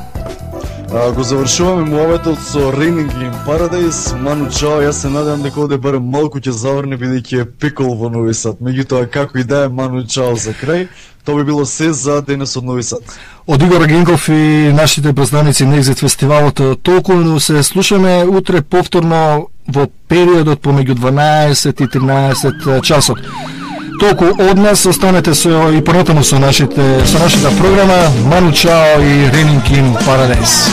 А, го завршуваме муабетот со Raining in Paradise. Ману Чао, јас се надевам дека овде барем малку ќе заврне бидејќи е пекол во Нови Сад. Меѓутоа како и да е, Ману Чао за крај. Тоа би било се за денес од Нови Сад. Од Игор Генков и нашите празнаници на Екзит фестивалот толку, но се слушаме утре повторно во периодот помеѓу дванаесет и тринаесет часот. Толку од нас, останете со и понатаму со нашите со нашата програма. Ману Чао и Raining in Paradise.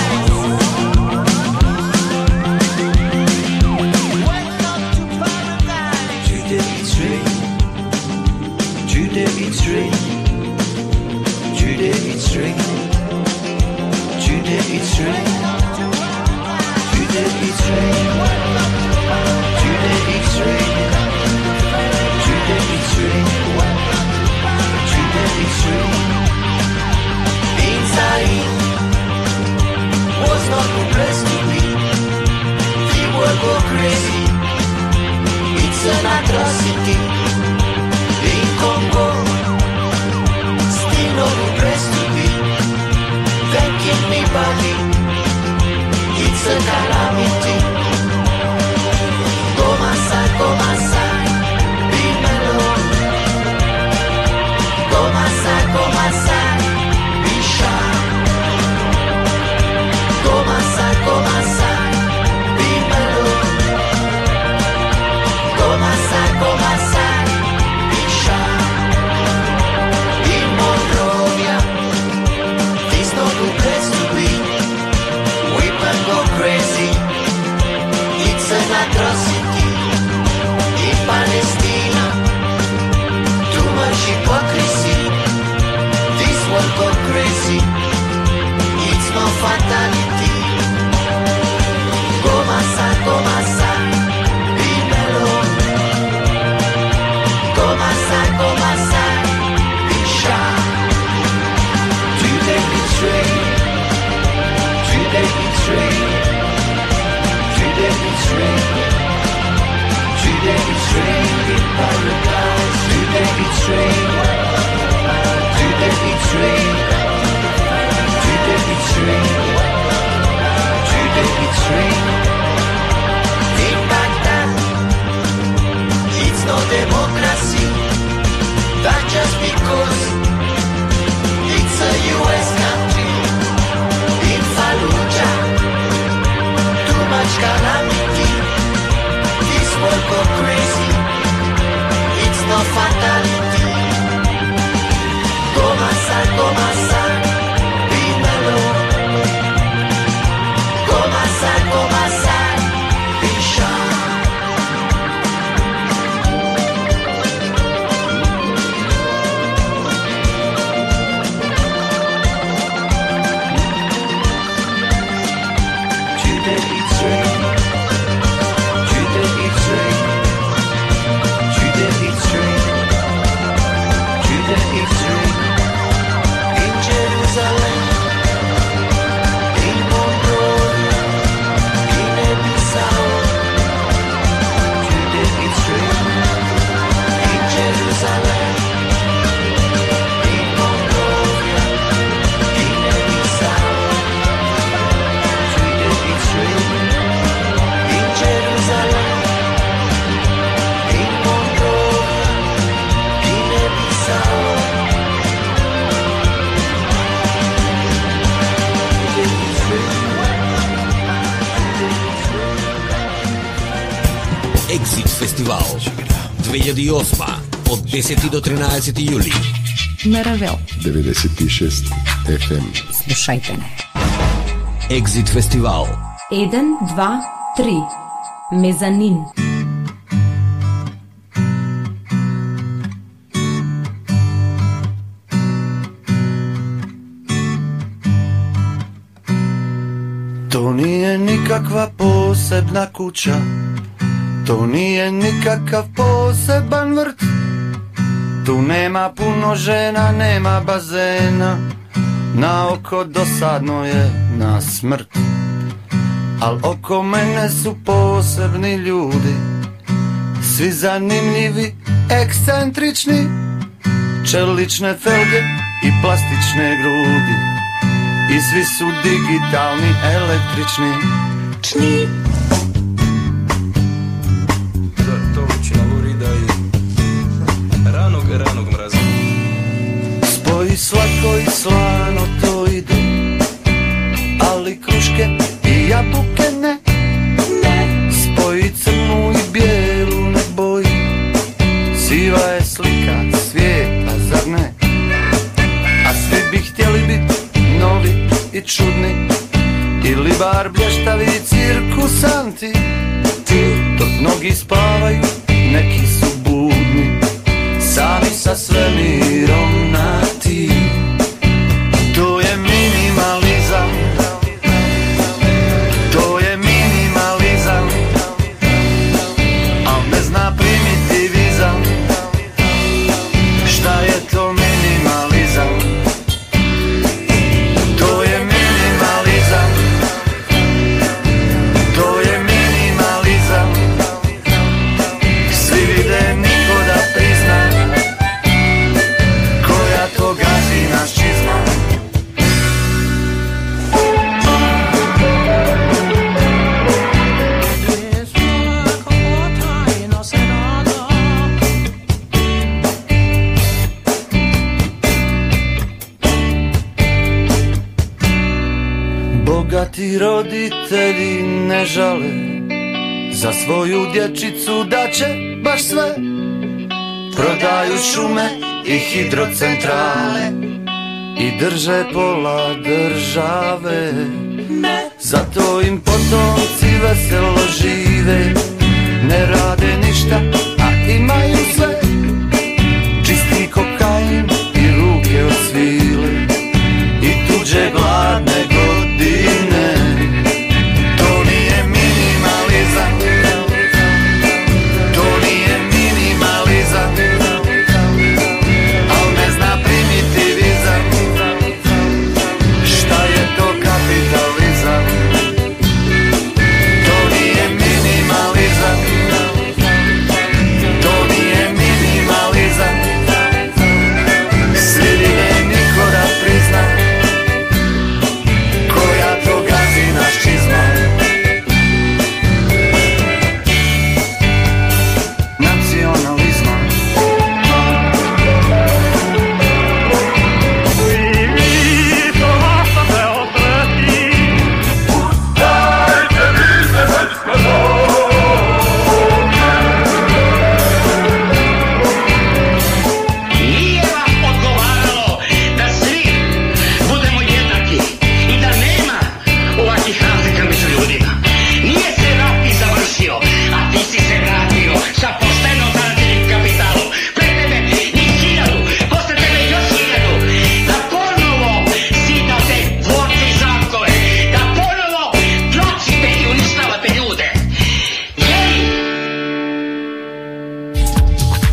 An atrocity in Congo, still not impressed to be thanking me body. It's a calamity. Go my side, go my фестивал две илјади и осма од десети до тринаесети јули на Равел деветдесет и шест еф ем. Слушајте не. Екзит фестивал еден, два, три. Мезанин. To nije nikakva posebna kuća, to nije nikakav poseban vrt. Tu nema puno žena, nema bazena, na oko dosadno je na smrt. Al oko mene su posebni ljudi, svi zanimljivi, ekscentrični, čelične felge i plastične grudi. I svi su digitalni, električni. Čni. To učina Lurida i ranog, ranog mraza. Spoji slatko i slano to ide, ali kruške i jabuke ne. Spoji crnu i bijelu ne boji, siva je slika svijeta, zar ne? A svi bi htjeli biti novi i čudni, ili bar blještavi cirkusanti. Dok mnogi spavaju, neki su budni, sami sa svemirom na ti. To je minimalizam, to je minimalizam, al ne zna primitivizam. Šta je to minimalizam? To je minimalizam, to je minimalizam. Svi vide, niko da prizna, koja to gazi naš čizma. Bogati roditelji ne žale za svoju dječicu da će baš sve. Prodaju šume i hidrocentrale i drže pola države. Zato im potomci veselo žive, ne rade ništa, a imaju sve. Čisti kokain i ruke od svile i tuđe gladne godine. To nije minimalizam, to nije minimalizam, al ne zna primitivizam. Šta je to kapitalizam? To nije minimalizam, to nije minimalizam. Svi vide, niko da prizna, koja to gazi naš čizma. Nacionalizma. Nije vam odgovaralo da svi budemo jednaki i da nema ovakvih razlika među ljudima. Nije se rat i završio, a ti si se vratio sa pošteno zarađenim kapitalom. Pre tebe ni hiljadu, posle tebe još hiljadu. Da ponovo zidate dvorce i zatkove, da ponovo tlačite i uništavate ljude. Jej!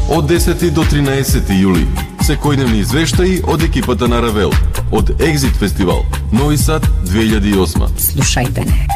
Од десети до тринаесети јули, секојдневни извештаи од екипата на Равел, од Екзит фестивал, Нови Сад две илјади и осма. Слушајте не.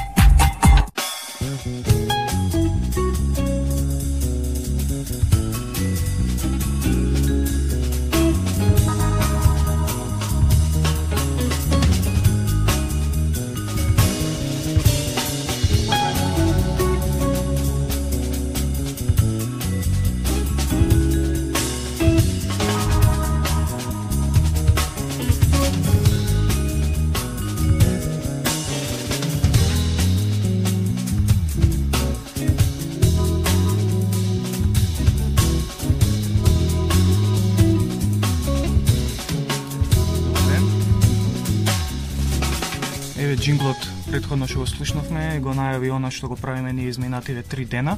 Значи, джинглот претходно што го слушнавме, го најави она што го правиме ние изминативе три дена.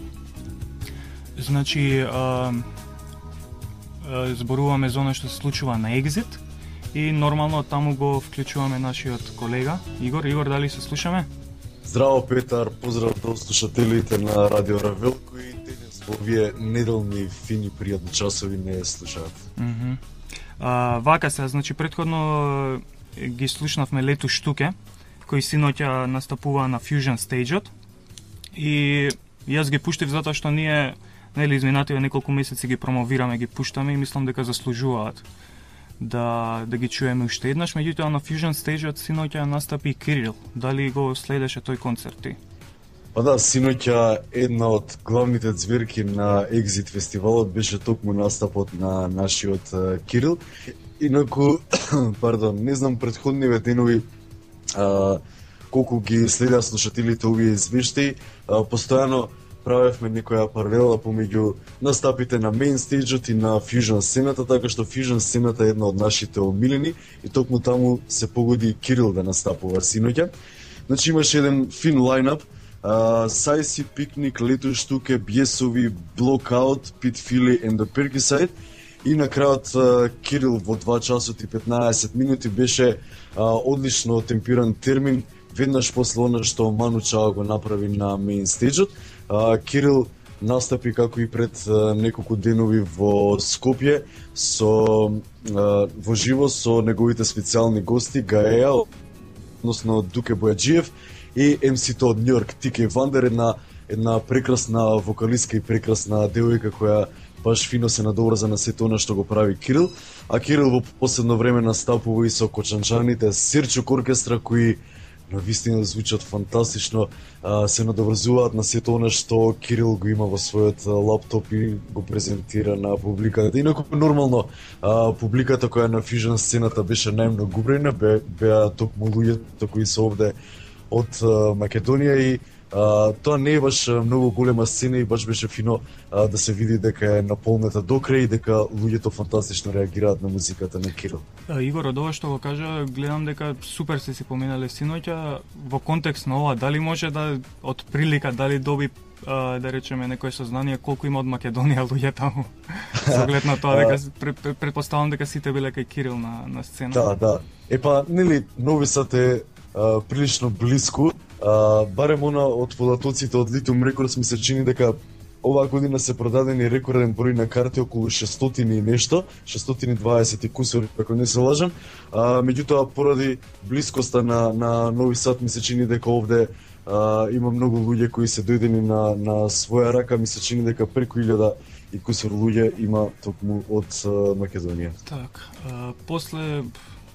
Значи, а, а, зборуваме за она што се случува на Exit и нормално таму го вклучуваме нашиот колега Игор. Игор, дали се слушаме? Здраво, Петар, поздрав до слушателите на Радио Равел, кои денес во овие неделни, фини, пријатни часови не слушаат. Mm -hmm. а, вака се, значи, предходно ги слушнавме Лету Штуке, кој синоќа настапува на Fusion Stage-от. И јас ги пуштив затоа што ние, нели, изминативе неколку месеци ги промовираме, ги пуштаме и мислам дека заслужуваат да да ги чуеме уште еднаш. Меѓутоа на Fusion Stage-от синоќа настапи Кирил. Дали го следеше тој концерт ти? Па да, синоќа една од главните ѕверки на Exit фестивалот беше токму настапот на нашиот uh, Кирил. Инаку, пардон, не знам претходниве денови а, колку ги следа слушателите овие извештаи, а, постојано правевме некоја паралела помеѓу настапите на Main Stage-от и на Fusion сцената, така што Fusion сцената е една од нашите омилени и токму таму се погоди Кирил да настапува синоќа. Значи имаше еден фин лајнап, Сайси, Пикник, Лету Штуке, Бјесови, Blockout, Pit Philly and the Perkiside. И на крајот Кирил во два часот и петнаесет минути беше а, одлично темпиран термин, веднаш после она што Ману Чао го направи на Main Stage-от. Кирил настапи како и пред а, неколку денови во Скопје со а, во живо со неговите специјални гости Гаеа, односно Дуке Бојаджиев и ем си-то од Њујорк Тике Вандер, една една прекрасна вокалистка и прекрасна девојка која баш фино се надобрза на сето она што го прави Кирил. А Кирил во последно време настапува и со кочанчаните Серчук оркестра, кои навистина звучат фантастично, а, се надобрзуваат на сето она што Кирил го има во својот лаптоп и го презентира на публиката. Инаку нормално, а, публиката која на Fusion сцената беше најмногу убрена, бе, беа токму луѓето кои се овде од а, Македонија и Uh, тоа не е баш многу голема сцена и баш беше фино uh, да се види дека е наполнета до крај и дека луѓето фантастично реагираат на музиката на Кирил. Игор, од ова што го кажа, гледам дека супер се си поминале синоќа. Во контекст на ова, дали може да од прилика, дали доби uh, да речеме некое сознание колку има од Македонија луѓе таму? Со оглед на тоа дека пред, предпоставам дека сите биле кај Кирил на на сцена. Да, да. Епа, нели Нови Сад е uh, прилично блиску. Uh, барем она од податоците од Lithium Records ми се чини дека оваа година се продадени рекорден број на карти, околу шестстотини и нешто, шестстотини и дваесет и кусур, ако не се лажам. Uh, меѓутоа, поради блискоста на, на Нови Сад ми се чини дека овде uh, има многу луѓе кои се дојдени на, на своја рака, ми се чини дека преку илјада и кусур луѓе има токму од uh, Македонија. Так, uh, после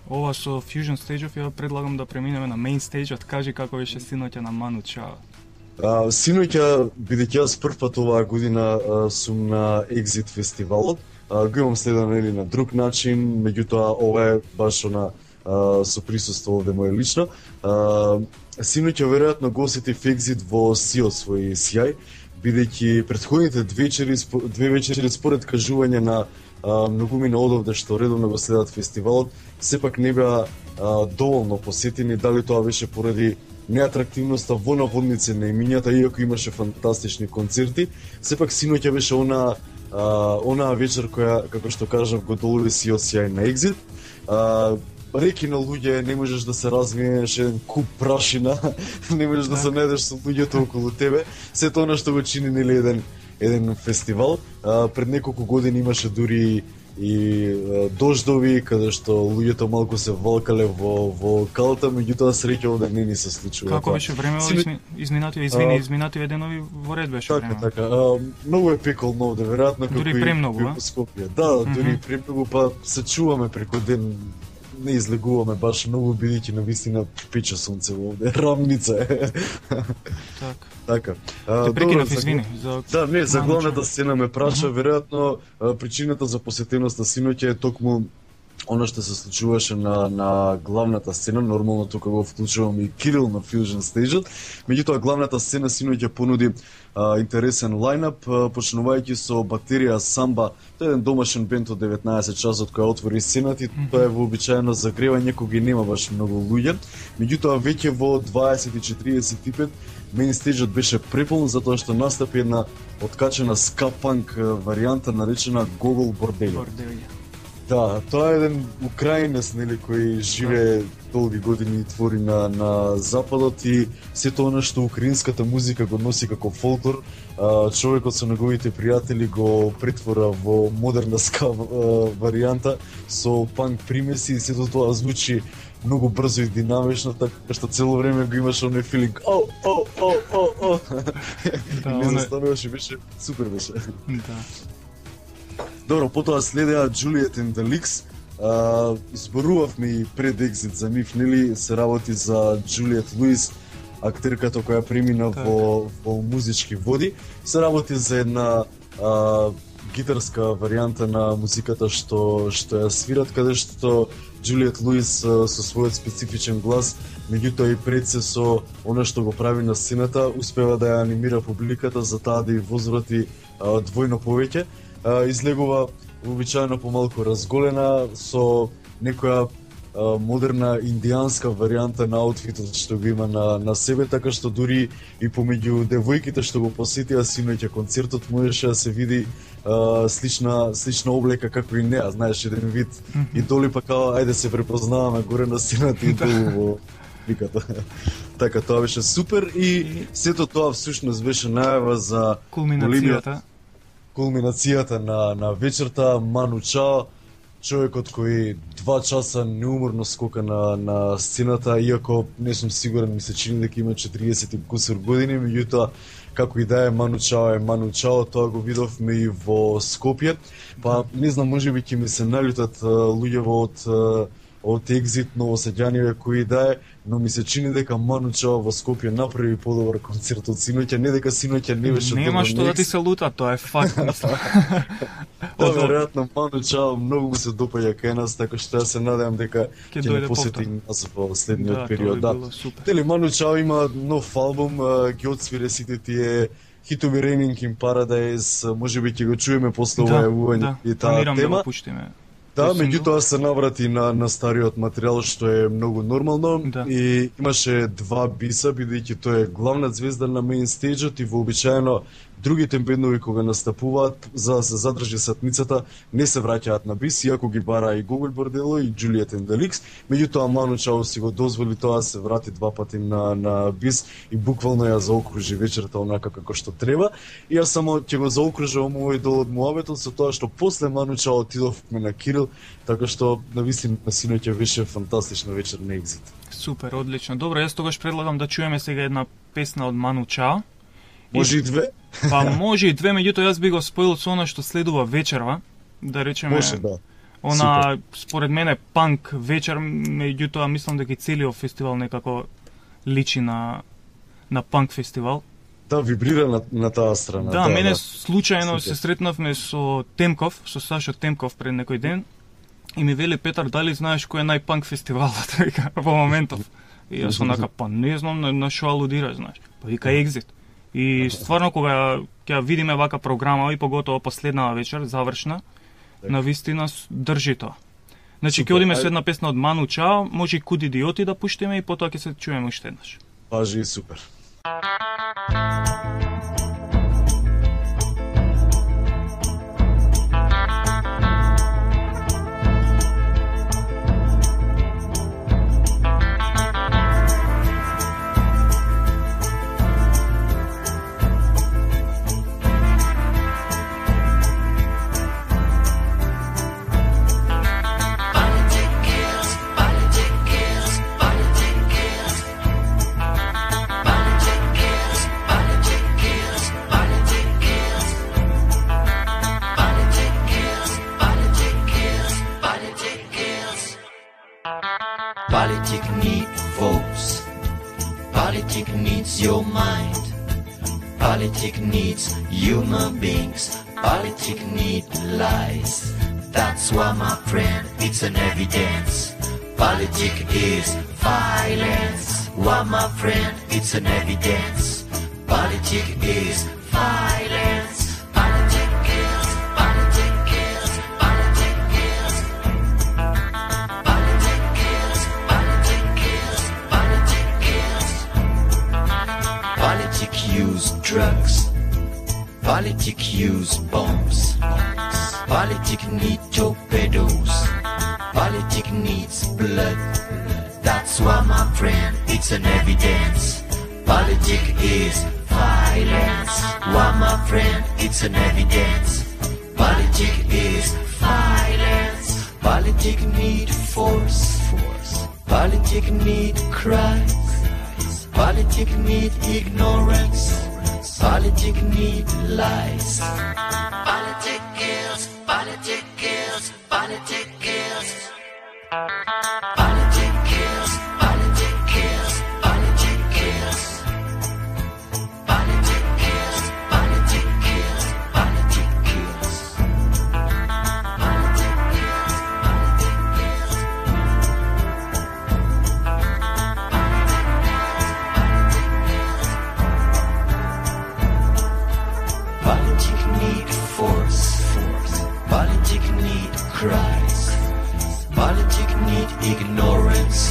ова со Fusion Stage-ов, ја предлагам да преминеме на Main Stage-от. Кажи како беше синоќа на Ману Чао. А, синоќа, бидејќи јас прв пат оваа година а, сум на Exit фестивалот, а, го имам следен нели на друг начин, меѓутоа ова е баш она а, со присуство овде моје лично. А, синоќа веројатно го осетив Exit во сиот свој сјај, бидејќи претходните две вечери, две вечери според кажување на Uh, многу ми одовде што редовно го следат фестивалот, сепак не беа uh, доволно посетени, дали тоа беше поради неатрактивноста во наводници на имињата, иако имаше фантастични концерти, сепак синоќа беше она uh, онаа вечер која, како што кажав, го долови сиот сјај на Exit. Uh, реки на луѓе, не можеш да се развиеш еден куп прашина, не можеш да се најдеш со луѓето околу тебе, сето она што го чини нели еден еден фестивал. А, пред неколку години имаше дури и а, дождови, каде што луѓето малку се валкале во во калта, меѓутоа среќа овде не ни се случува. Како беше време во изми... изминативе, извини, изминативе денови во ред беше така, време. Така, а, многу е пеколно овде, веројатно како дури премногу, во Скопје. Да, mm -hmm. дури премногу, па се чуваме преку ден, не излегуваме баш многу, бидејќи навистина пече сонце овде, рамница е. Так. Така. Те прекинав, извини. За... Да, не, за главната сцена ме праша, веројатно причината за посетеноста синоќа е токму Оно што се случуваше на, на главната сцена, нормално тука го вклучувам и Кирил на Fusion Stage-от, меѓутоа главната сцена синоќа понуди а, интересен лајнап, а, почнувајќи со батерија Самба, тоа е еден домашен бенд од деветнаесет часот која отвори сцената и тоа е вообичаено загревање кога нема баш многу луѓе, меѓутоа веќе во дваесет и четиридесет и пет меин стејџот беше преполн затоа што настапи една откачена ска-панк варијанта наречена Гогол Борделјо. Да, тоа е еден украинец, нели, кој живее долги години и твори на, на Западот и сето она што украинската музика го носи како фолклор, а, човекот со неговите пријатели го претвора во модерна ска варијанта со панк примеси и сето тоа звучи многу брзо и динамично, така што цело време го имаш оној филинг о, о, о, о, о. Да, не застануваше, беше супер беше. Да. Добро, потоа следеа Juliet and the Leaks. А, изборувавме и пред екзит за нив, нели, се работи за Juliet Lewis, актерката која премина во, во музички води. Се работи за една а, гитарска варијанта на музиката што што ја свират, каде што Juliet Lewis а, со својот специфичен глас, меѓутоа и пред се со она што го прави на сцената, успева да ја анимира публиката за таа да ја возврати а, двојно повеќе. Излегува вообичаено помалку разголена со некоја а, модерна индијанска варијанта на аутфитот што го има на, на себе, така што дури и помеѓу девојките што го посетија синоќа концертот можеше да се види а, слична слична облека како и неа, знаеш, еден вид и доли па као ајде се препознаваме горе на сцената и долу во публиката. Така тоа беше супер и сето тоа всушност беше најава за кулминацијата кулминацијата на, на вечерта. Ману Чао, човекот кој два часа неуморно скока на, на сцената, иако не сум сигурен, ми се чини дека има четириесет и кусур години, меѓутоа како и да е, Ману Чао е Ману Чао, тоа го видовме и во Скопје. Па не знам, можеби ќе ми се налютат луѓево од од екзит новосеѓаниве кои да е, но ми се чини дека Ману Чао во Скопје направи подобар концерт од синоќа, не дека синоќа не беше добро. Нема што да ти се лута, тоа е факт. Да, веројатно Ману Чао многу му се допаѓа кај нас, така што ја се надевам дека ќе не посети нас во следниот да, период. Да, Дели Ману Чао има нов албум, ги отсвире сите тие хитови Raining in Paradise, можеби ќе го чуеме после ова јавување и таа тема. Да, меѓутоа се наврати на, на стариот материјал, што е многу нормално, да. И имаше два биса, бидејќи тој е главна звезда на меин стејџот и вообичаено другите бендови кога настапуваат, за да се задржи сатницата, не се враќаат на бис, иако ги бара и Гогол Бордело и Juliet and the Leaks, меѓутоа Ману Чао си го дозволи тоа, се врати два пати на, на бис и буквално ја заокружи вечерта онака како што треба. И јас само ќе го заокружувам овој дел од муабетот со тоа што после Ману Чао отидовме на Кирил, така што навистина синоќа беше фантастична вечер на екзит. Супер, одлично. Добро, јас тогаш предлагам да чуеме сега една песна од Ману Чао. Може и две? Па може и две, меѓутоа јас би го споил со она што следува вечерва, да речеме. Може, да. Она Супер. Според мене панк вечер, меѓутоа мислам дека целиот фестивал некако личи на на панк фестивал. Да, вибрира на, на таа страна. Да, да мене да. случајно се сретнавме со Темков, со Сашо Темков пред некој ден и ми вели Петар, дали знаеш кој е најпанк фестивалот во моментов? И јас онака, па не знам на, на шо алудира, знаеш. Па вика Екзит. И стварно кога ќе видиме вака програма и поготово последнава вечер завршна, на вистина држи тоа. Значи ќе одиме со една песна од Ману Чао, може и Куд идиоти да пуштиме и потоа ќе се чуеме уште еднаш. Важи, супер. Politic need votes. Politic needs your mind. Politic needs human beings. Politic need lies. That's why, my friend, it's an evidence. Politics is violence. Why, my friend, it's an evidence. Politics is violence. Politics kills, politics kills, politics kills. Politics kills, politics kills, politics kills. Politics use drugs. Politics use bombs. Politics need torpedoes. Politics needs blood. That's why, my friend, it's an evidence. Politics is violence. Why, my friend, it's an evidence. Politics is violence. Politics need force. Politics need cries. Politics need ignorance. Politics need lies. Politics kills. Politics kills. Politics kills. Politics kills. Politics kills. Politics kills. Politics kills. Politics kills. Politics kills. Politics need force. Politics need cries. Politics need ignorance.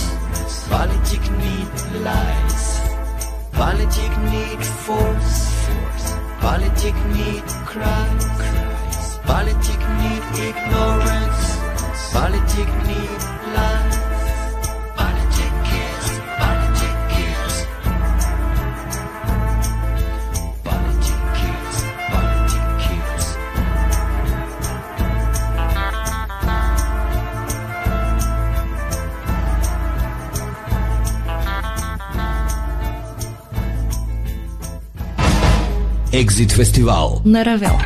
Politics need lies. Politics need force. Politics need cries. Politics need ignorance. Politics need lies. Politics kills. Politics kills. Politics kills. Politics kills. Екзит фестивал на Равел.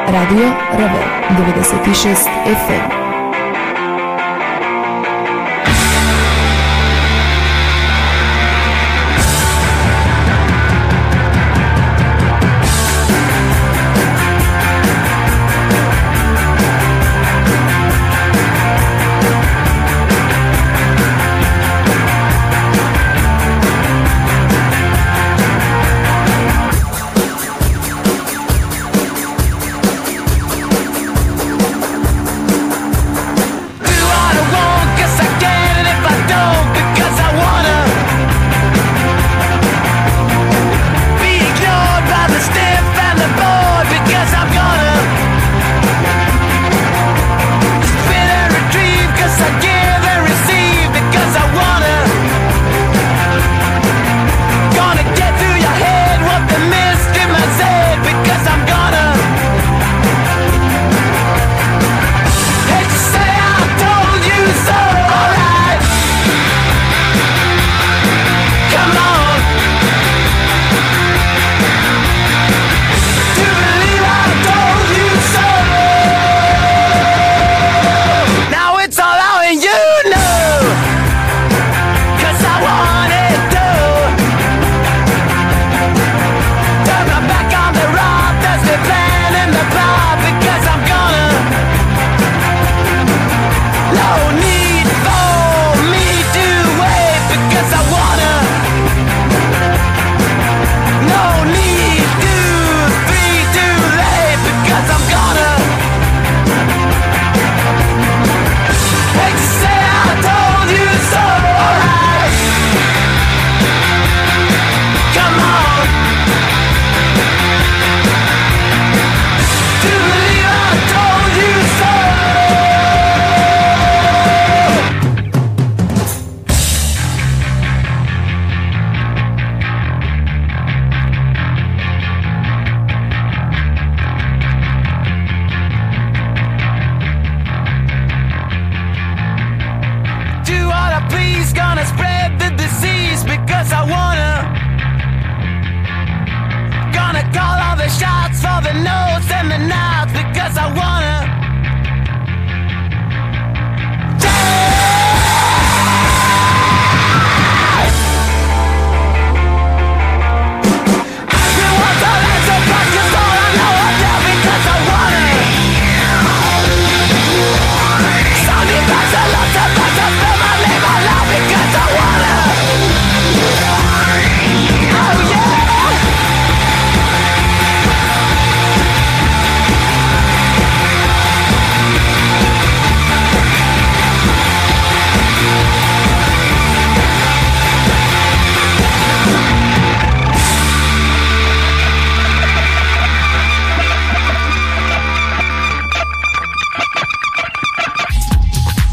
Радио Равел деветдесет и шест еф ем.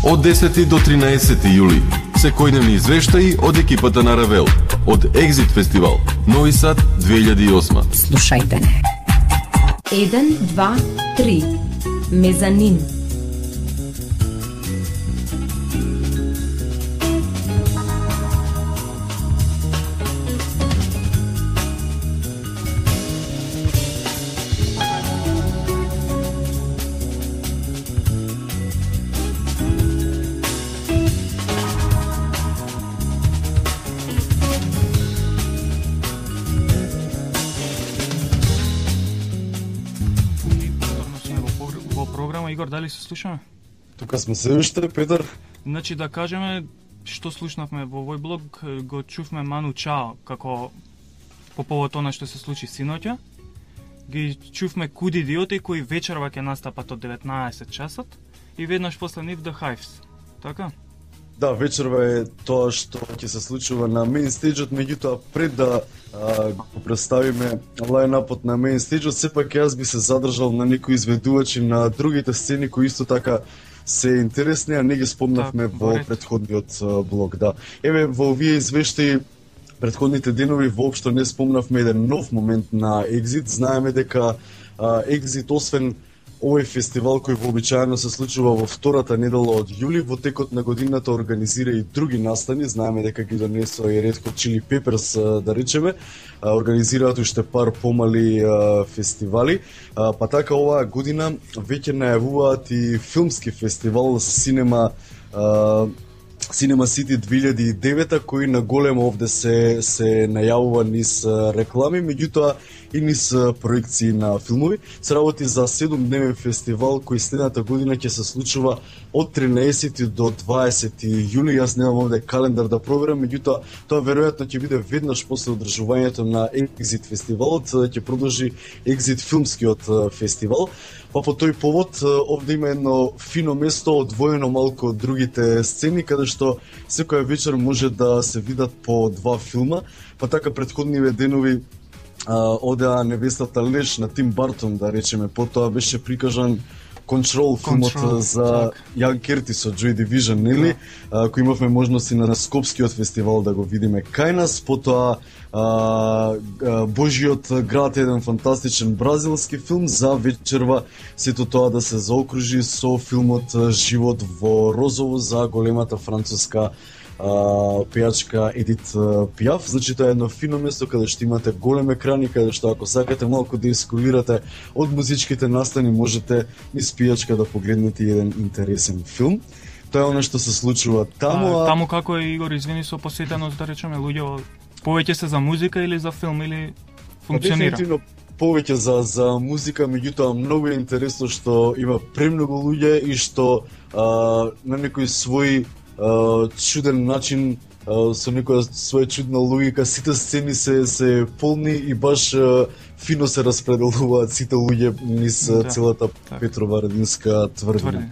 Од десети до тринаесети јули, секојдневни извештаи од екипата на Равел, од Екзит фестивал, Нови Сад две илјади и осма. Слушајте не. еден, два, три. Мезанин. Игор, дали се слушаме? Тука сме се уште, Петар. Значи да кажеме што слушнавме во овој блог, го чувме Ману Чао, како по повод она што се случи синоќа. Ги чувме Куд Идиоти кои вечерва ќе настапат од деветнаесет часот и веднаш после нив The Hives. Така? Да, вечерва е тоа што ќе се случува на мејн стејџот, меѓутоа пред да а, го представиме лајнапот на мејн стејџот, сепак јас би се задржал на некои изведувачи на другите сцени кои исто така се интересни, а не ги спомнавме так, во борет. Претходниот а, блог. Да. Еве, во овие извештаи претходните денови воопшто не спомнавме еден нов момент на Екзит. Знаеме дека а, Екзит, освен Овој фестивал кој вообичаено се случува во втората недела од јули, во текот на годината организира и други настани. Знаеме дека ги донесува и Red Hot Chili Peppers, да речеме, организираат уште пар помали фестивали, па така оваа година веќе најавуваат и филмски фестивал Cinema Cinema City две илјади и девета, кој на големо овде се се најавува низ реклами, меѓутоа и низ проекции на филмови. Се работи за седумдневен фестивал кој следната година ќе се случува од тринаесети до дваесети јули. Јас немам овде календар да проверам, меѓутоа тоа веројатно ќе биде веднаш после одржувањето на Exit фестивалот, ќе продолжи Exit филмскиот фестивал. Па по тој повод овде има едно фино место одвоено малку од другите сцени, каде што секоја вечер може да се видат по два филма. Па така претходниве денови одеа Невестата леж на Тим Бартон, да речеме, потоа беше прикажан Control, филмот Control, за Јан Кертис од Joy Division, нели? А, кој имавме можност и на Скопскиот фестивал да го видиме кај нас, потоа а, а, Божиот град, еден фантастичен бразилски филм, за вечерва сето тоа да се заокружи со филмот Живот во розово за големата француска Uh, пејачка Едит uh, Пиаф. Значи тоа е едно фино место каде што имате голем екрани, каде што ако сакате малку да искулирате од музичките настани, можете низ пијачка да погледнете еден интересен филм. Тоа е оно што се случува таму. А, таму како е, Игор, извини, со посетеност, да речеме, луѓе повеќе се за музика или за филм, или функционира? Дефинитивно повеќе за за музика, меѓутоа многу е интересно што има премногу луѓе и што а, на некој свој Uh, чуден начин, uh, со некоја своја чудна логика, сите сцени се се полни и баш uh, фино се распределуваат сите луѓе низ да, целата так. Петрова Радинска тврдина.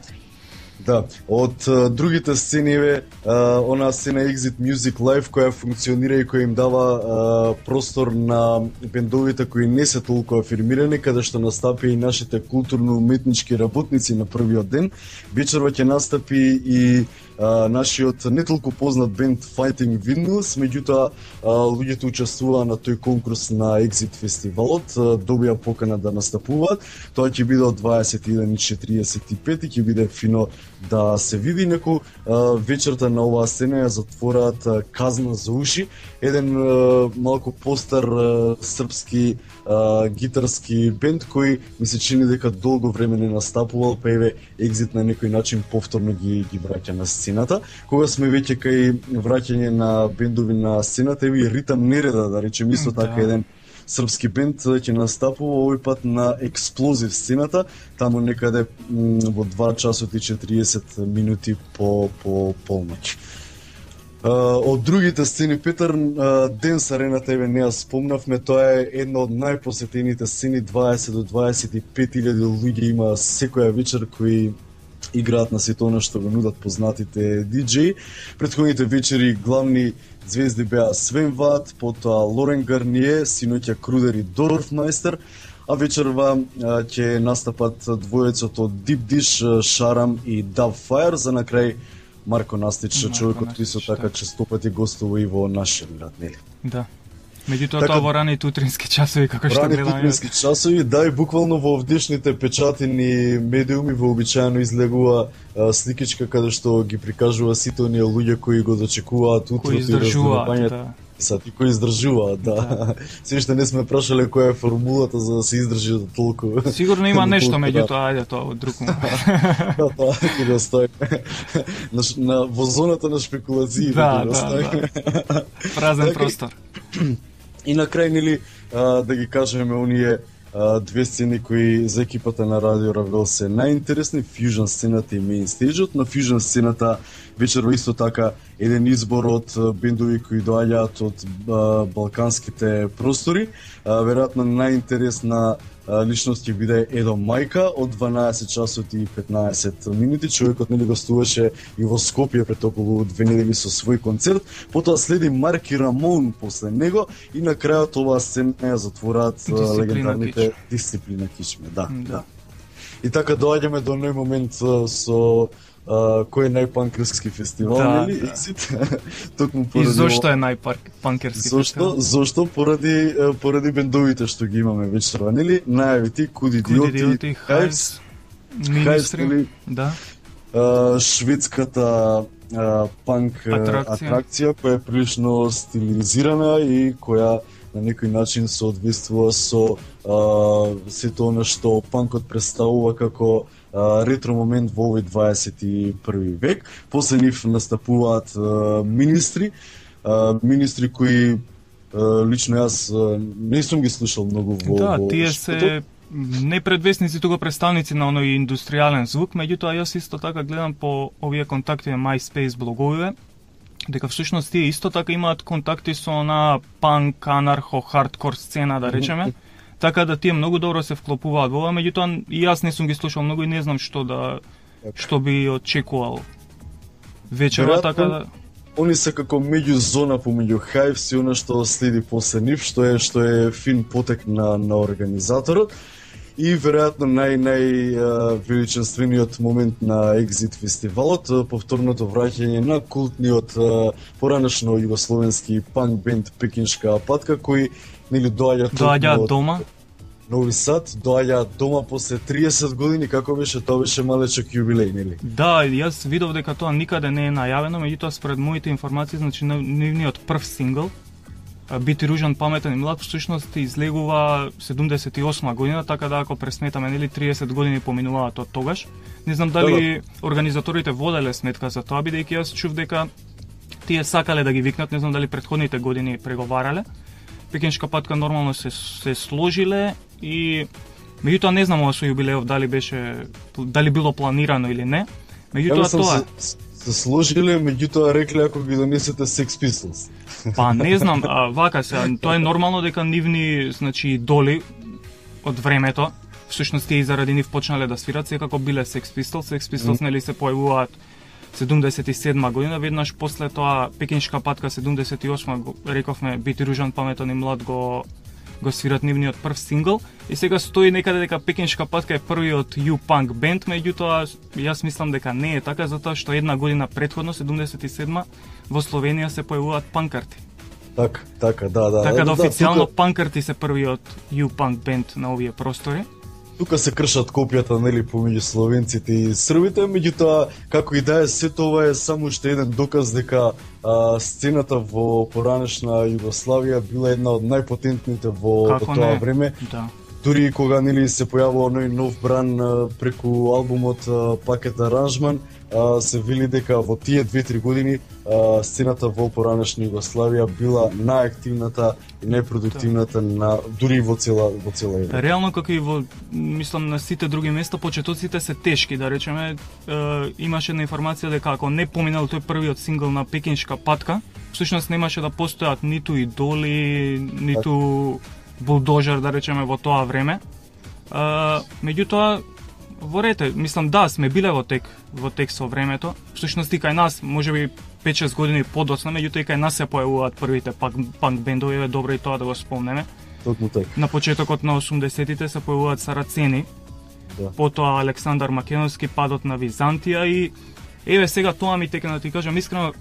Да, од uh, другите сцени е uh, она сцена Exit Music Live која функционира и која им дава uh, простор на бендовите кои не се толку афирмирани, каде што настапи и нашите културно-уметнички работници на првиот ден. Вечерва ќе настапи и Uh, нашиот не толку познат бенд Fighting Windmills, меѓутоа uh, луѓето учествуваа на тој конкурс на Exit фестивалот, uh, добија покана да настапуваат. Тоа ќе биде од дваесет и еден и четиридесет и пет и ќе биде фино да се види. Неку uh, вечерта на оваа сцена ја затвораат uh, Казна за уши, еден uh, малку постар uh, српски uh, гитарски бенд кој ми се чини дека долго време не настапувал, па еве Exit на некој начин повторно ги ги враќа на сцената. Кога сме веќе кај враќање на бендови на сцената, еви Ритам Нереда, да речем, исто да. Така еден српски бенд ќе настапува овој пат на Експлозив сцената, таму некаде во два часот и четиридесет минути по по полноќ. Uh, од другите сцени, Петар, uh, Денс Арената, еве не ја спомнавме, тоа е една од најпосетените сцени, дваесет до дваесет и пет илјади луѓе има секоја вечер кои играат на сето она што го нудат познатите диџеи. Претходните вечери главни звезди беа Свен Ват, потоа Лорен Гарние, синоќа Крудер и Дорфмајстер, а вечерва ќе настапат двојецот од Deep Dish, Шарам и Dub Fire, за на крај Марко Настич, Марко човекот кој со така честопати гостува и во нашиот град, нели? Да. Меѓутоа така, тоа во ранеите утрински часови, како што гледаме. Ранеите утрински часови, да, и буквално во овдешните печатени медиуми вообичаено излегува а, сликичка каде што ги прикажува сите оние луѓе кои го дочекуваат утрото и раздорувањето. Да. Сати кои издржуваат, да. да. Се уште не сме прашале која е формулата за да се издржи до толку. Сигурно има нешто, меѓутоа, ајде тоа од друг момент. Да, тоа ќе го стои. На, на во зоната на шпекулации. Да, да, да. Празен простор. И на крај, нели, да ги кажеме оние две сцени кои за екипата на Радио Равел се најинтересни, Fusion сцената и Main Stage-от. На Fusion сцената вечерва исто така еден избор од бендови кои доаѓаат од балканските простори. Веројатно најинтересна личност ќе биде Едо Мајка од дванаесет часот и петнаесет минути. Човекот нели гостуваше и во Скопје пред околу две недели со свој концерт. Потоа следи Марки Рамон после него и на крајот оваа сцена ја затвораат легендарните Дисциплина Кичме. Да, да, да. И така доаѓаме до оној момент со Uh, кој е најпанкерски фестивал, да, нели? Да. Токму поради. И зошто е најпанкерски фестивал? Зошто? Поради поради бендовите што ги имаме вечерва, нели? Најавите Куди Диоти, Хайвс, министри, да. Uh, шведската uh, панк атракција. атракција која е прилично стилизирана и која на некој начин соодветствува со uh, сето она што панкот представува како uh, ретро момент во овој дваесет и први век. После нив настапуваат uh, министри, uh, министри кои uh, лично јас uh, не сум ги слушал многу во Да, во тие шпитот. се не предвесници, туку представници на оној индустријален звук, меѓутоа јас исто така гледам по овие контакти на MySpace блоговите, дека всушност тие исто така имаат контакти со она панк, анархо, хардкор сцена, да речеме, така да тие многу добро се вклопуваат во ова, меѓутоа и јас не сум ги слушал многу и не знам што да што би очекувал вечера, така да Они се како меѓузона помеѓу Hives и она што следи после нив, што е што е фин потек на на организаторот. И веројатно нај нај величествениот момент на Exit фестивалот, повторното враќање на култниот поранешно југословенски панк бенд Пекиншка патка, кои нели доаѓаат доаѓаат дома. Нови Сад, доаѓаат дома после триесет години, како беше, тоа беше малечок јубилеј, нели? Да, јас видов дека тоа никаде не е најавено, меѓутоа според моите информации, значи нивниот прв сингл Бити ружан, паметен и млад, всушност излегува седумдесет и осма година, така да ако пресметаме, нели триесет години поминуваат од тогаш. Не знам дали организаторите воделе сметка за тоа, бидејќи јас чув дека тие сакале да ги викнат, не знам дали претходните години преговарале. Пекиншка патка нормално се се сложиле и меѓутоа не знам ова со јубилеов дали беше дали било планирано или не. Меѓутоа тоа се, се сложиле, меѓутоа рекле ако ги донесете Sex Pistols. Па не знам, а, вака се, тоа е нормално дека нивни, значи, идоли од времето, всушност тие заради нив почнале да свират, секако биле Sex Pistols, Sex Pistols mm. нели се појавуваат седумдесет и седма година, веднаш после тоа Пекиншка патка седумдесет и осма, рековме, Бити ружан, паметен и млад го го свират нивниот прв сингл и сега стои некаде дека Пекиншка патка е првиот U-Punk бенд, меѓутоа јас мислам дека не е така, затоа што една година претходно, седумдесет и седма, во Словенија се појавуваат панкарти. Така, така, да, да. Така да, да официјално тука... панкарти се првиот U-Punk бенд на овие простори. Тука се кршат копијата, нели, помеѓу словенците и србите, меѓутоа, како и да е, сето ова е само уште еден доказ дека а, сцената во поранешна Југославија била една од најпотентните во, во тоа не? време. Да. Дури кога нели се појавува оној нов бран а, преку албумот а, Пакет Аранжман, а, се вели дека во тие две-три години а, сцената во поранешна Југославија била најактивната и најпродуктивната на дури во цела во цела Европа. Реално како и во мислам на сите други места почетоците се тешки, да речеме, е, имаше една информација дека ако не поминал тој првиот сингл на Пекиншка патка, всушност немаше да постојат ниту идоли, ниту булдожер, да речеме, во тоа време. А, меѓутоа, во рете, мислам, да, сме биле во тек, во тек со времето. Всушност и кај нас, можеби пет-шест години подоцна, меѓутоа и кај нас се појавуваат првите панк, панк бендови, е добро и тоа да го спомнеме. Токму така. На почетокот на осумдесетите се појавуваат Сарацени, да. Потоа Александар Македонски, падот на Византија и еве сега тоа ми текна, да ти кажам искрено,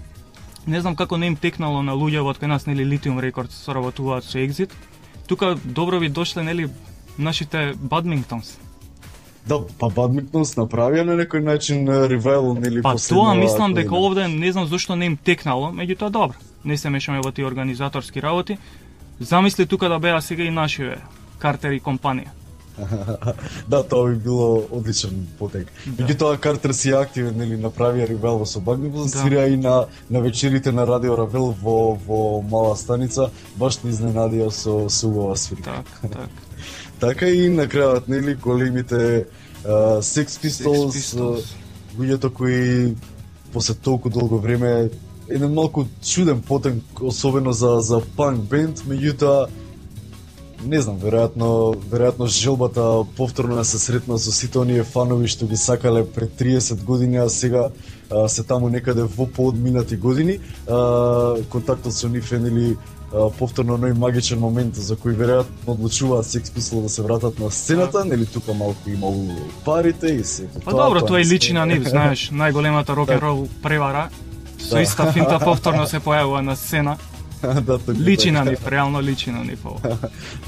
не знам како не им текнало на луѓе од кај нас, нели Lithium Records соработуваат со Exit. Тука добро ви дошле, нели, нашите Badmintons. Да, па Badmintons направија на некој начин ревайл, нели, па последно. Па тоа мислам дека овде не знам зошто не им текнало, меѓутоа добро. Не се мешаме во тие организаторски работи. Замисли тука да беа сега и нашиве Картер и компанија. Да, тоа би било одличен потек. Да. Меѓутоа Картер си активен, нели, направија ревайл со Badmintons, да. Свира и на на вечерите на Радио Равел во во мала станица, баш не изненадија со со убава свирка. Так, так. Така и на крајот, нели, големите uh, Sex Pistols, uh, луѓето кои после толку долго време еден малку чуден потек, особено за за панк бенд, меѓутоа не знам, веројатно, веројатно желбата повторно да се сретна со сите оние фанови што ги сакале пред триесет години, а сега а, се таму некаде во поодминати години. А, контактот со нив е, нели, повторно оној магичен момент за кој веројатно одлучуваат Sex Pistols да се вратат на сцената, нели тука малку има парите и се тоа. Па добро, тоа е личи на нив, знаеш, најголемата рок н рол превара. Со иста финта повторно се појавува на сцена. Да, така, личи така. на нив, реално личи на нив ова.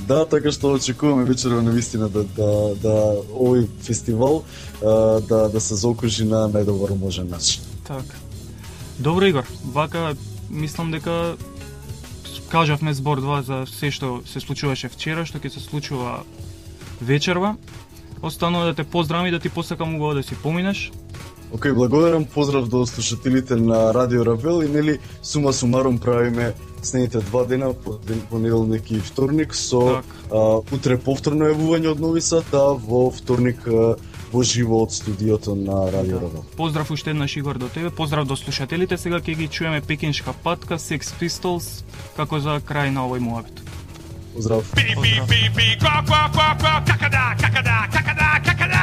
Да, така што очекуваме вечерва на вистина да да да овој фестивал а, да да се заокружи на најдобар можен начин. Така. Добро, Игор, вака мислам дека кажавме збор два за се што се случуваше вчера, што ќе се случува вечерва. Останува да те поздравам и да ти посакам убаво да си поминеш. Океј, okay, благодарам, поздрав до слушателите на Радио Равел и нели сума сумарум правиме следните два дена, понеделник и вторник, со а, утре повторно јавување од Нови Сад, а во вторник а, во живо од студиото на Радио Равел. Поздрав уште еднаш, Игор, до тебе, поздрав до слушателите, сега ќе ги чуеме Пекиншка патка, Sex Pistols, како за крај на овој муабет. Поздрав. Би, би, би, би, ко, ко, ко, ко, какада, какада, какада, какада!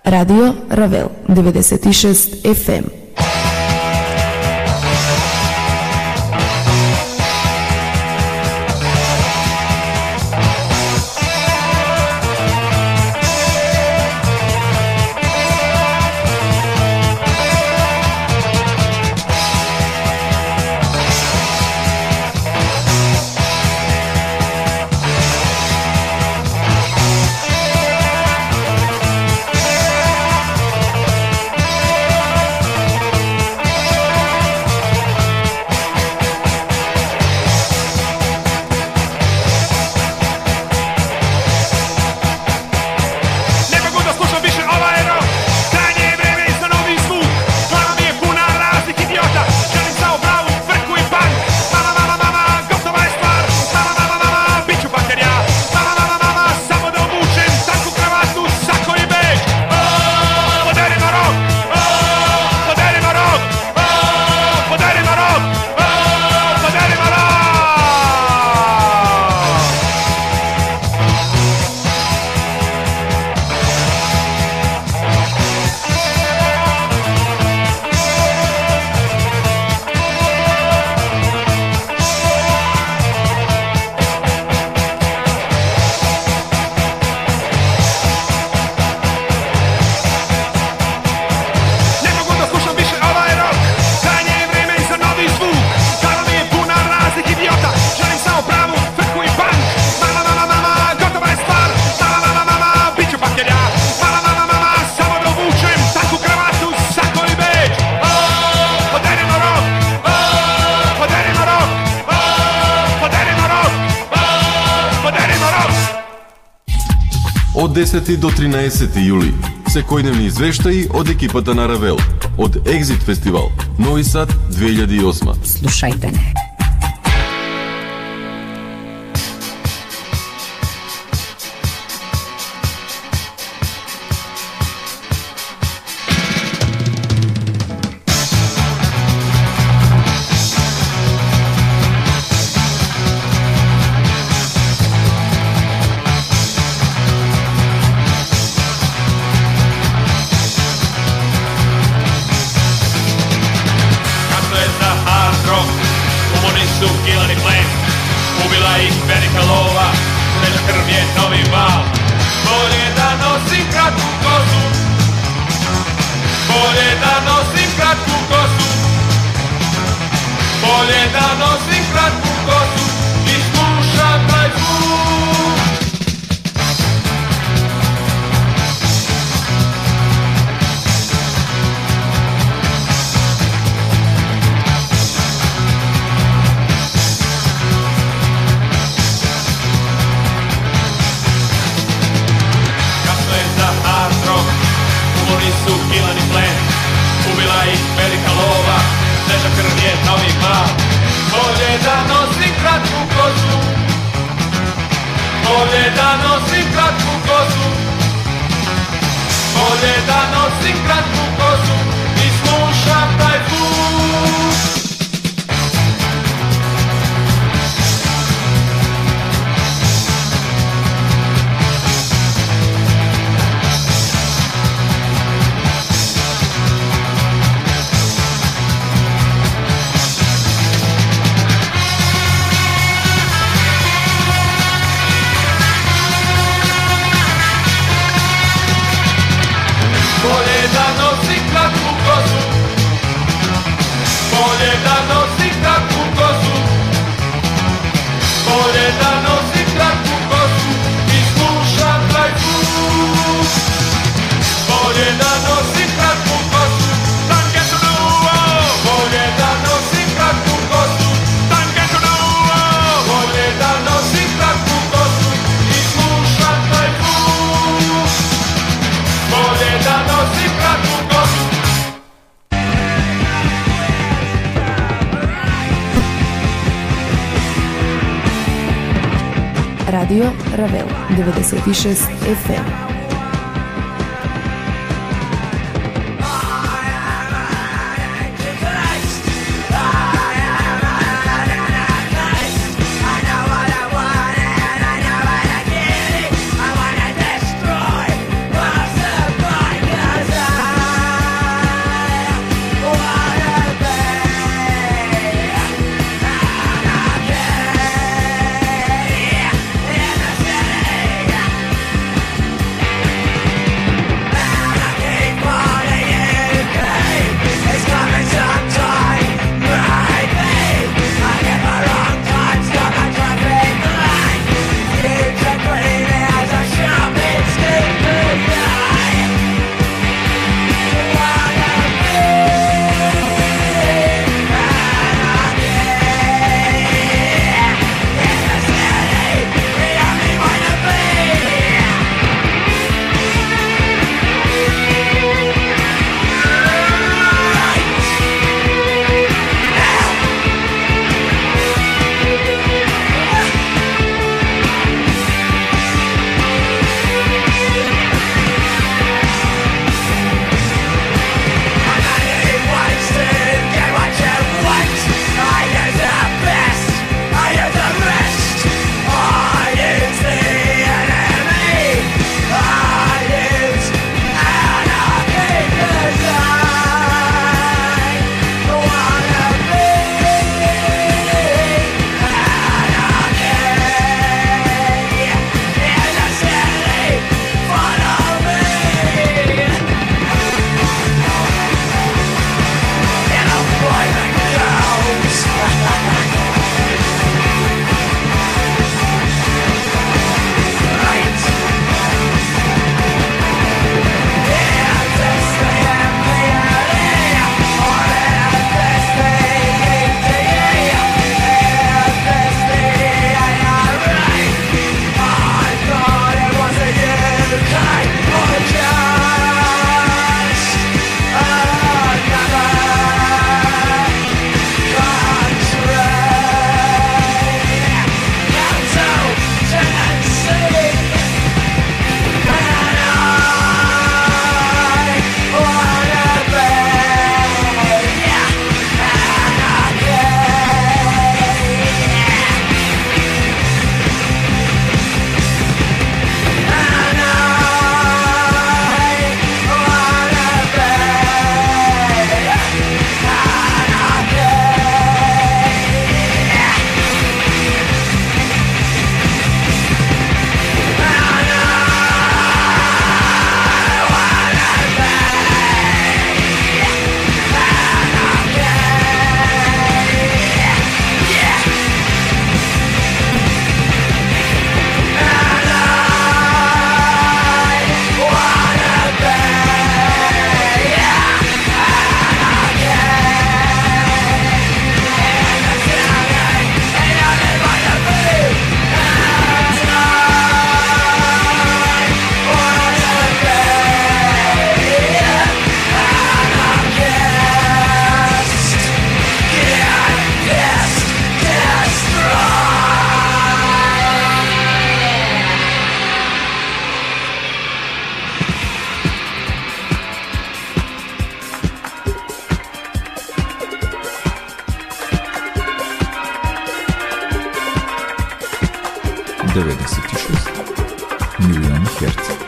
Радио Равел деветдесет и шест еф ем. Од десети до тринаесети јули, секојдневни извештаи од екипата на Равел, од Екзит фестивал, Нови Сад две илјади и осма. Слушајте не. nosim kratku kosu, bolje da nosim kratku kosu i slušam taj zvuk. Bolje da nosim kratku kosu, bolje da nosim kratku kosu, bolje da nosim kratku kosu i slušam taj zvuk. Bolje da nosim kratku kosu, tanke su duo, bolje da nosim kratku kosu, tanke su duo, bolje da nosim kratku kosu i slušam taj zvuk. Bolje da nosim kratku kosu. Radio Ravel devedeset i šest еф ем. Yeah. мегахерца.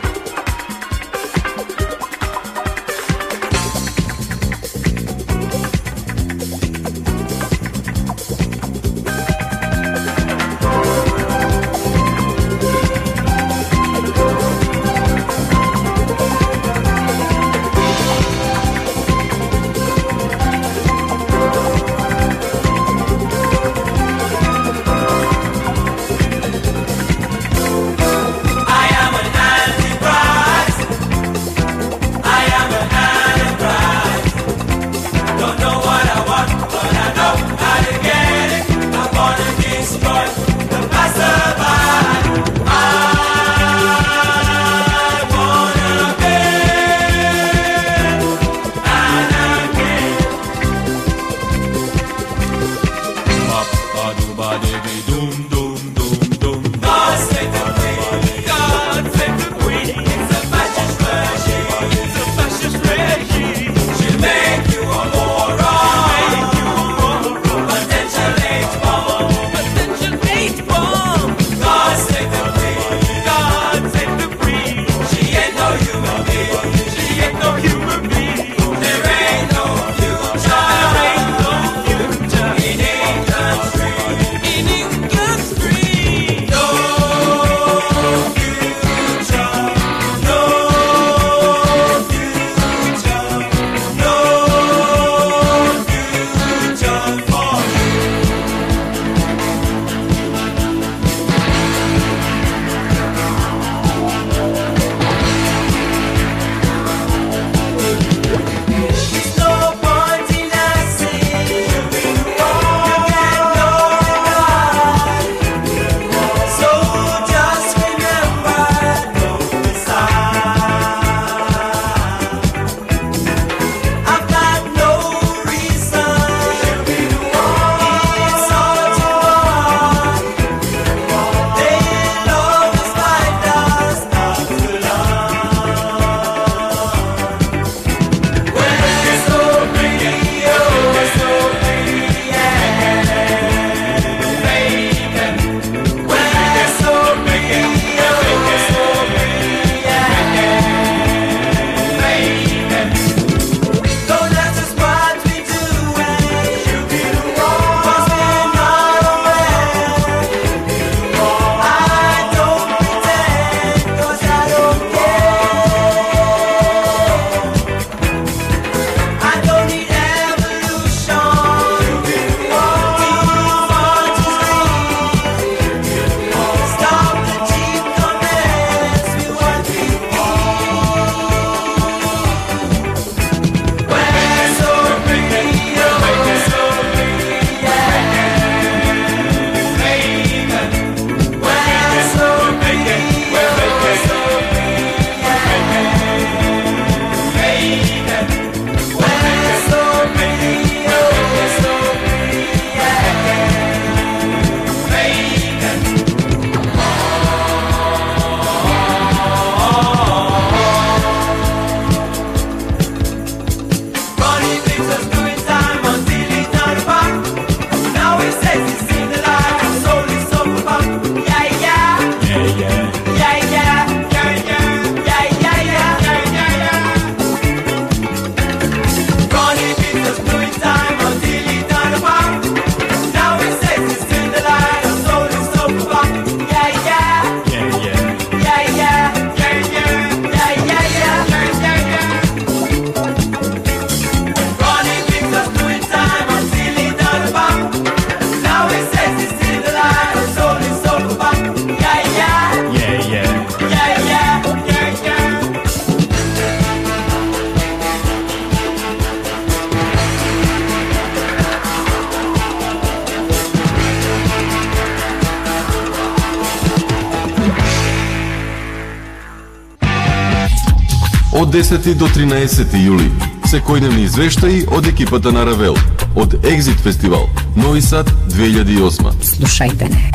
Од десети до тринаесети јули, секојдневни извештаи од екипата на Равел, од Екзит фестивал, Нови Сад две илјади и осма. Слушајте не.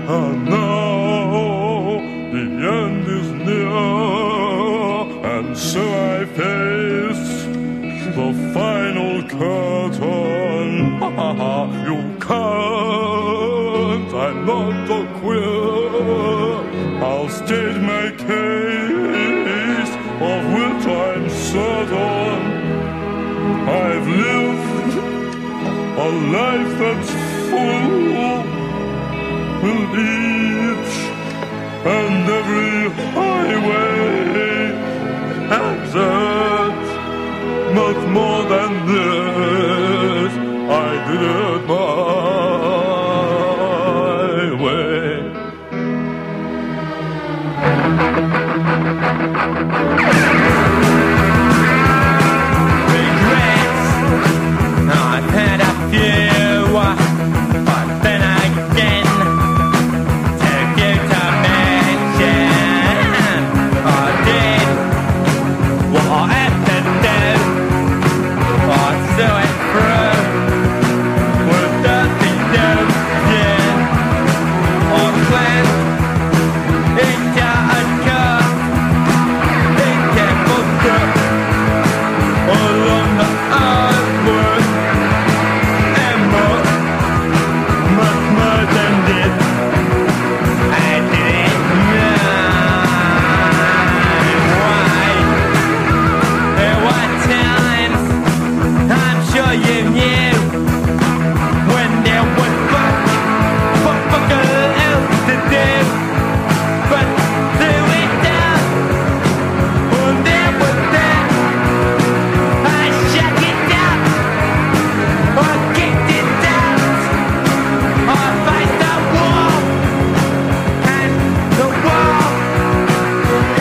And now the end is near, and so I face the final curtain. You can't, I'm not a queer. I'll state my case, of which I'm certain. I've lived a life that's full, with each and every highway exit. Much more than this, I did it my way. Regrets, I've had a few, but then again, to give to mention, I did what I had to do. I saw it through with dirty doom, yeah. I cleansed into a curve, into footprint along the earthward, and more, much more than this. I didn't know why. There were times I'm sure you knew when there was fuck, fuck, fuck else to do, but through it down, when there was that, I shut it down, I kicked it down, I faced the wall, and the wall,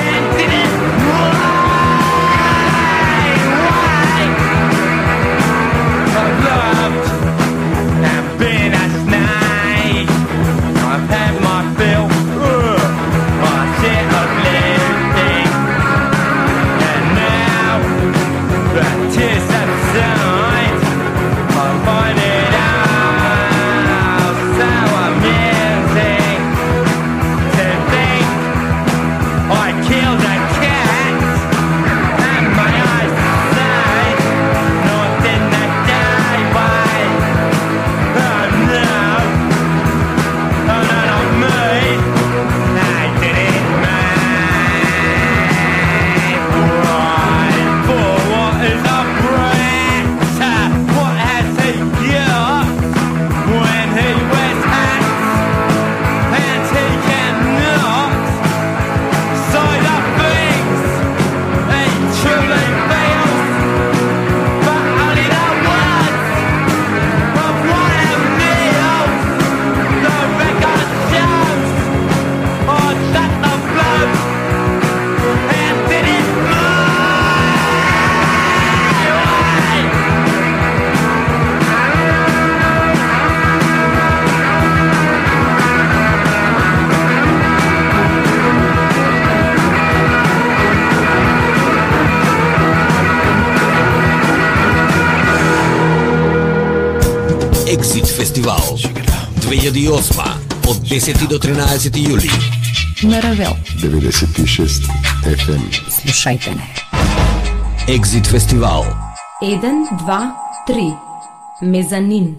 and didn't I've loved and been a snake. I've had my fill, uh, my shit of living, and now the tears subside. I find it all so amusing to think I killed a cat, and my eyes say nothing that day, but oh no, oh no, not me. I didn't make right for what is a brat. What has he got when he wears hats and he cannot say the things he truly feels, but only the words of one of meals. The record shows I shut the blows and did it my way. Exit Фестивал две илјади и осма од десети до тринаесети јули. На Равел. деветдесет и шест еф ем. Слушајте не. Exit Фестивал. еден, два, три. Мезанин.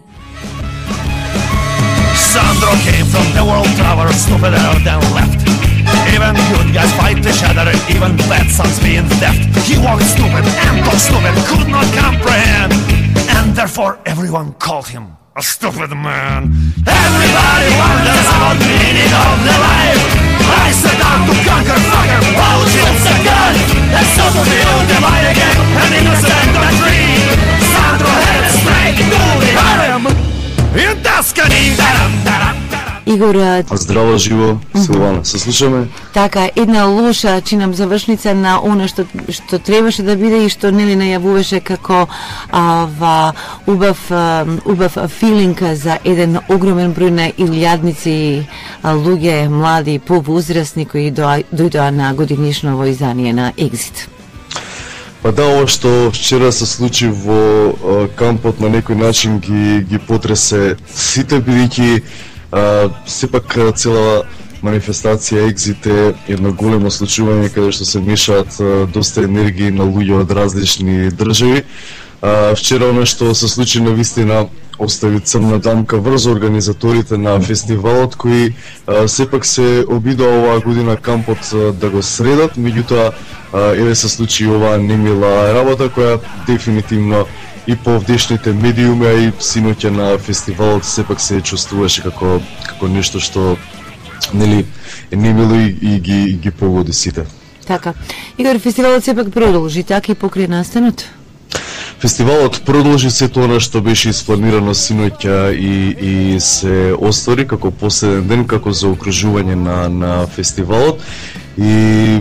Sandro came from the world tower, stupider than left. Even good guys fight each other, even bad sons being left. He walked stupid and talked stupid, could not comprehend, and therefore everyone called him a stupid man. Everybody wonders about the meaning of the life. I set out to conquer fucker, bullshit's a gun. And so to the old divide again, an innocent country. Sandro headed straight to the harem in Tuscany. Игор, здраво живо, Силвана, се слушаме. Така, една лоша чинам завршница на она што што требаше да биде и што нели најавуваше како ава убав убав филинг за еден огромен број на илјадници луѓе, млади, повозрасни кои дојдоа на годинишно во издание на Exit. Па да, ова што вчера се случи во кампот на некој начин ги ги потресе сите, бидејќи Uh, сепак цела манифестација Exit е едно големо случување каде што се мешаат доста енергии на луѓе од различни држави. Вчера она што се случи на вистина остави црна дамка врз организаторите на фестивалот кои а, сепак се обидоа оваа година кампот а, да го средат, меѓутоа еве се случи оваа немила работа која дефинитивно и по овдешните медиуми, а и синоќа на фестивалот сепак се чувствуваше како како нешто што нели е немило и, и ги и ги погоди сите. Така. Игор, фестивалот сепак продолжи така и покрај настанот. Фестивалот продолжи сето она што беше испланирано синоќа и и се оствари како последен ден како заокружување на на фестивалот и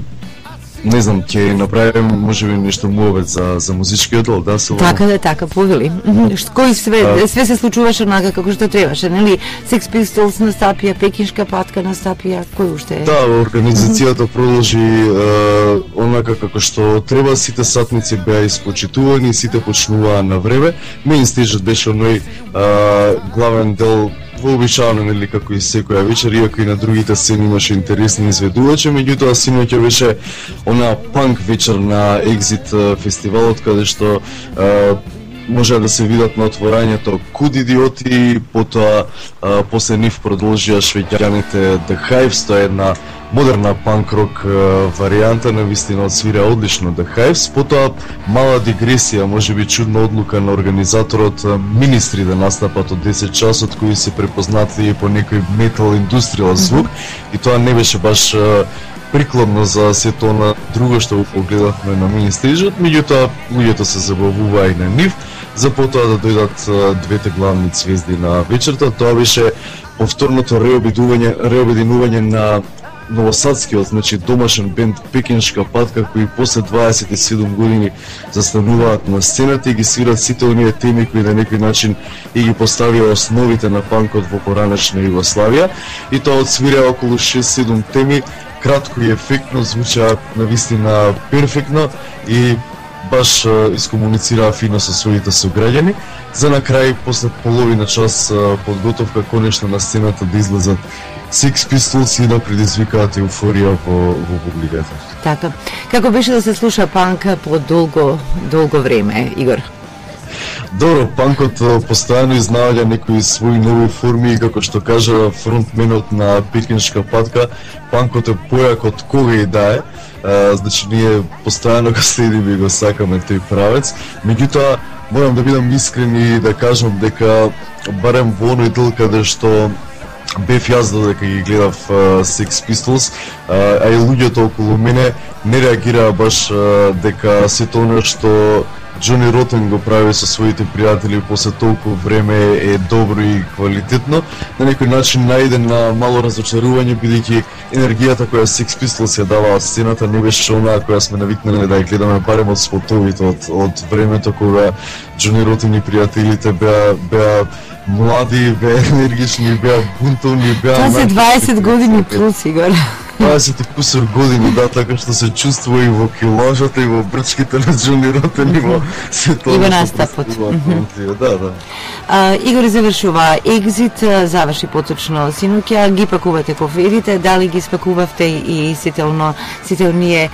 не знам, ќе направиме можеби нешто муавет за за музичкиот дел, да се. Така да, така повели. Кој све а... све се случуваше онака како што требаше, нели? Sex Pistols настапија, Пекиншка патка настапија, кој уште е? Да, организацијата продолжи е, онака како што треба, сите сатници беа испочитувани, сите почнуваа на време. Меин стежот беше оној главен дел вообичаено, нели, како и секоја вечер, иако и на другите сцени имаше интересни изведувачи, меѓутоа синоќа беше она панк вечер на Exit фестивалот, каде што е, може да се видат на отворањето Куд идиоти, потоа а, после нив продолжија швеѓаните The Hives, тоа е една модерна панк-рок варијанта, навистина отсвира одлично The Hives, потоа мала дигресија, можеби чудна одлука на организаторот Министри да настапат од десет часот, кои се препознати по некој метал индустријал звук, mm-hmm. и тоа не беше баш а, прикладно за сето на друго што го погледавме на Министрижот, меѓутоа луѓето се забавуваа и на нив, за потоа да дојдат двете главни звезди на вечерта. Тоа беше повторното реобединување, реобединување на новосадскиот, значи домашен бенд Пекиншка патка, кои после дваесет и седум години застануваат на сцената и ги свират сите оние теми кои на некој начин и ги поставија основите на панкот во поранешна Југославија, и тоа отсвира околу шест-седум теми, кратко и ефектно, звуча навистина перфектно и баш искомуницираа фино со своите сограѓани, за на крај, после половина час подготовка, конечно на сцената да излезат Sex Pistols и да предизвикаат еуфорија во, во публиката. Така. Како беше да се слуша панк по долго, долго време, Игор? Добро, панкот постојано изнаоѓа некои своји нови форми и како што кажа фронтменот на Пекиншка патка, панкот е појак од кога и да е. Uh, значи ние постојано го следиме и го сакаме тој правец. Меѓутоа, морам да бидам искрен и да кажам дека барем во оној дел каде што бев јас додека ги гледав uh, Sex Pistols, uh, а и луѓето околу мене не реагираа баш uh, дека сето оно што Џони Ротен го прави со своите пријатели после толку време е добро и квалитетно. На некој начин најде на мало разочарување, бидејќи енергијата која Sex Pistols ја даваа сцената не беше онаа која сме навикнали да ја гледаме барем од спотовите од, од времето кога Џони Ротен и пријателите беа беа млади, беа енергични, беа бунтовни, беа... Тоа се дваесет години плюс, Игор. дваесет и кусор години, да, така што се чувствува и во килажата, и во брчките на Џони Ротен, и во сето. И во настапот. Да, да. А, Игор завршува Exit, заврши поточно синоќа, ги пакувате коферите, дали ги спакувавте и сите оно, сите оние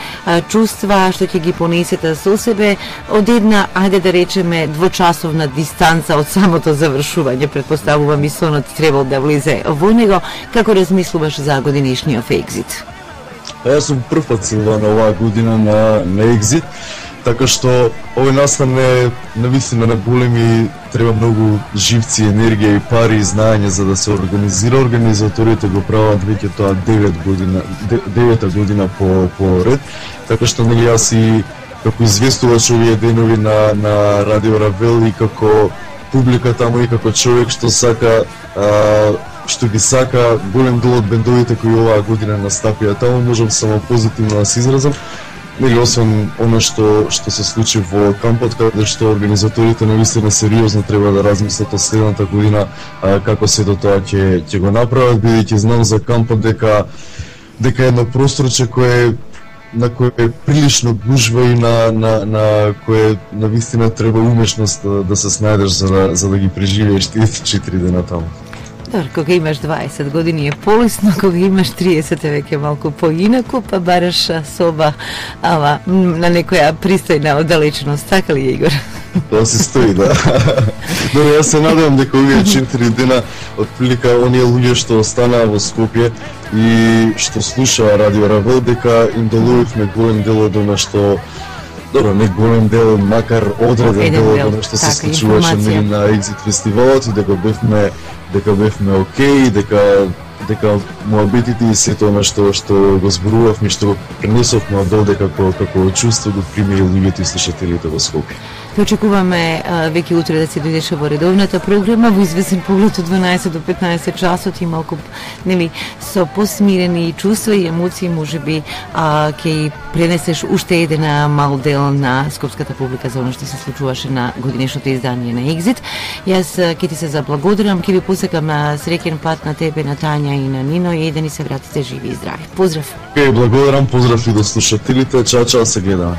чувства што ќе ги понесете со себе од една, ајде да речеме, двочасовна дистанца од самото завршување, предпоставувам и сонот требал да влезе во него, како размислуваш за годинишниот Exit? Јас сум прв пат на оваа година на, на Exit, така што овој настан е навистина на големи, треба многу живци, енергија и пари и знаење за да се организира. Организаторите го прават веќе тоа девет година, девета година по, по ред, така што нели јас и како известувач овие денови на, на Радио Равел и како публика таму и како човек што сака а, што ги сака голем дел од бендовите кои оваа година настапија таму, можам само позитивно да се изразам. Нели освен оно што што се случи во кампот, каде што организаторите навистина сериозно треба да размислат од следната година а, како се до тоа ќе ќе го направат, бидејќи знам за кампот дека дека едно просторче кое на кое е прилично гужва и на на на кое навистина треба умешност да, да се снајдеш за да за да ги преживееш тие четири дена таму. Добро, кога имаш дваесет години е полесно, кога имаш триесет е веќе малку поинаку, па бараш соба, ама на некоја пристојна оддалеченост, така ли, Игор? Тоа се стои, да. Но јас се надевам дека овие четири дена отприлика оние луѓе што останаа во Скопје и што слушаа Радио Равел, дека им делувавме голем дел од она што Добро, не голем дел, макар одреден дел од она што се случуваше на Екзит фестивалот и дека бевме дека бевме окей, дека дека муабетите и сето она што што го зборувавме, што го пренесовме одолде како како чувство го примеја луѓето и слушателите во Скопје. Те очекуваме а, веќе утре да се дојдеше во редовната програма, во известен поглед од дванаесет до петнаесет часот и малку, нели, со посмирени чувства и емоции, можеби а, ќе пренесеш уште еден мал дел на скопската публика за оно што се случуваше на годинешното издание на Екзит. Јас ќе ти се заблагодарам, ќе ви посекам на среќен пат на тебе, на Тања и на Нино и да ни се вратите живи и здрави. Поздрав! Ке, благодарам, поздрав и до слушателите, чао, чао, се гледаме.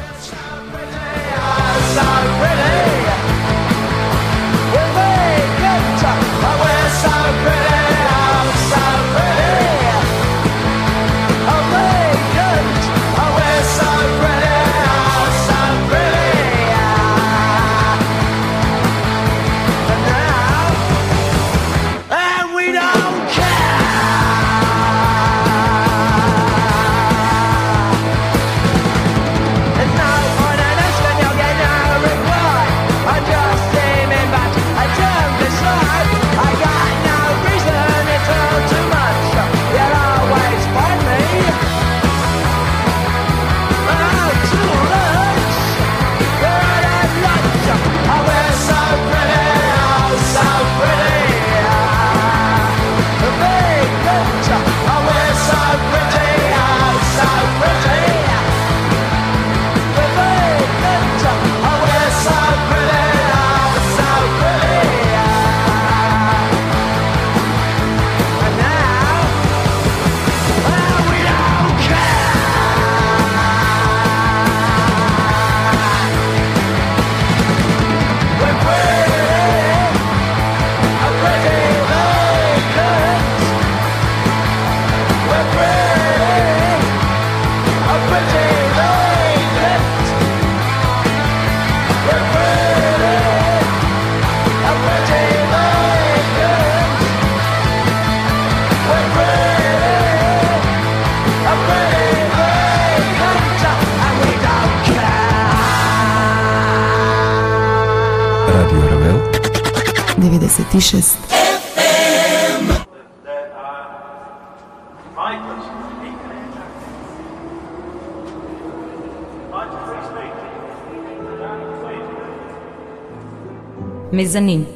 деветдесет и шест. Мезанин.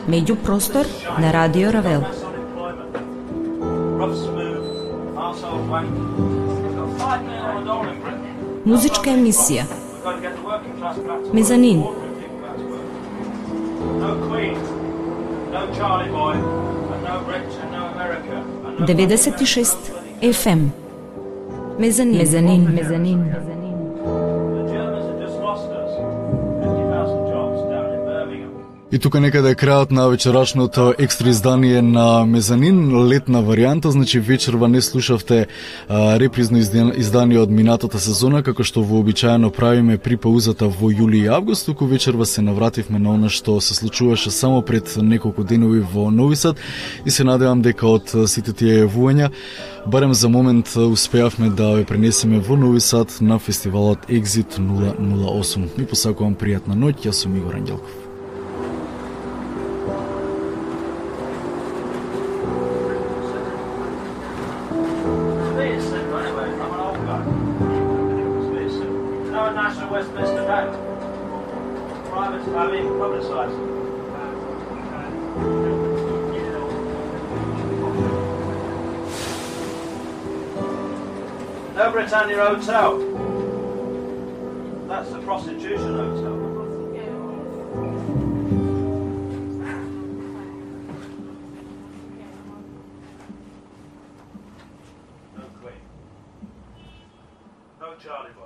Меѓупростор на Радио Равел. Музичка емисија. Мезанин. деветдесет и шест еф ем. Мезанин. Мезанин. Мезанин. И тука некаде е крајот на вечерашното екстра издание на Мезанин, летна варијанта, значи вечерва не слушавте а, репризно издание од минатата сезона, како што вообичаено правиме при паузата во јули и август, туку вечерва се навративме на она што се случуваше само пред неколку денови во Нови Сад и се надевам дека од сите тие јавувања барем за момент успеавме да ве пренесеме во Нови Сад на фестивалот Екзит нула нула осум. Ми посакувам пријатна ноќ, јас сум Игор Ангелков. No Britannia Hotel. That's the prostitution hotel. No Queen. No Charlie Boy.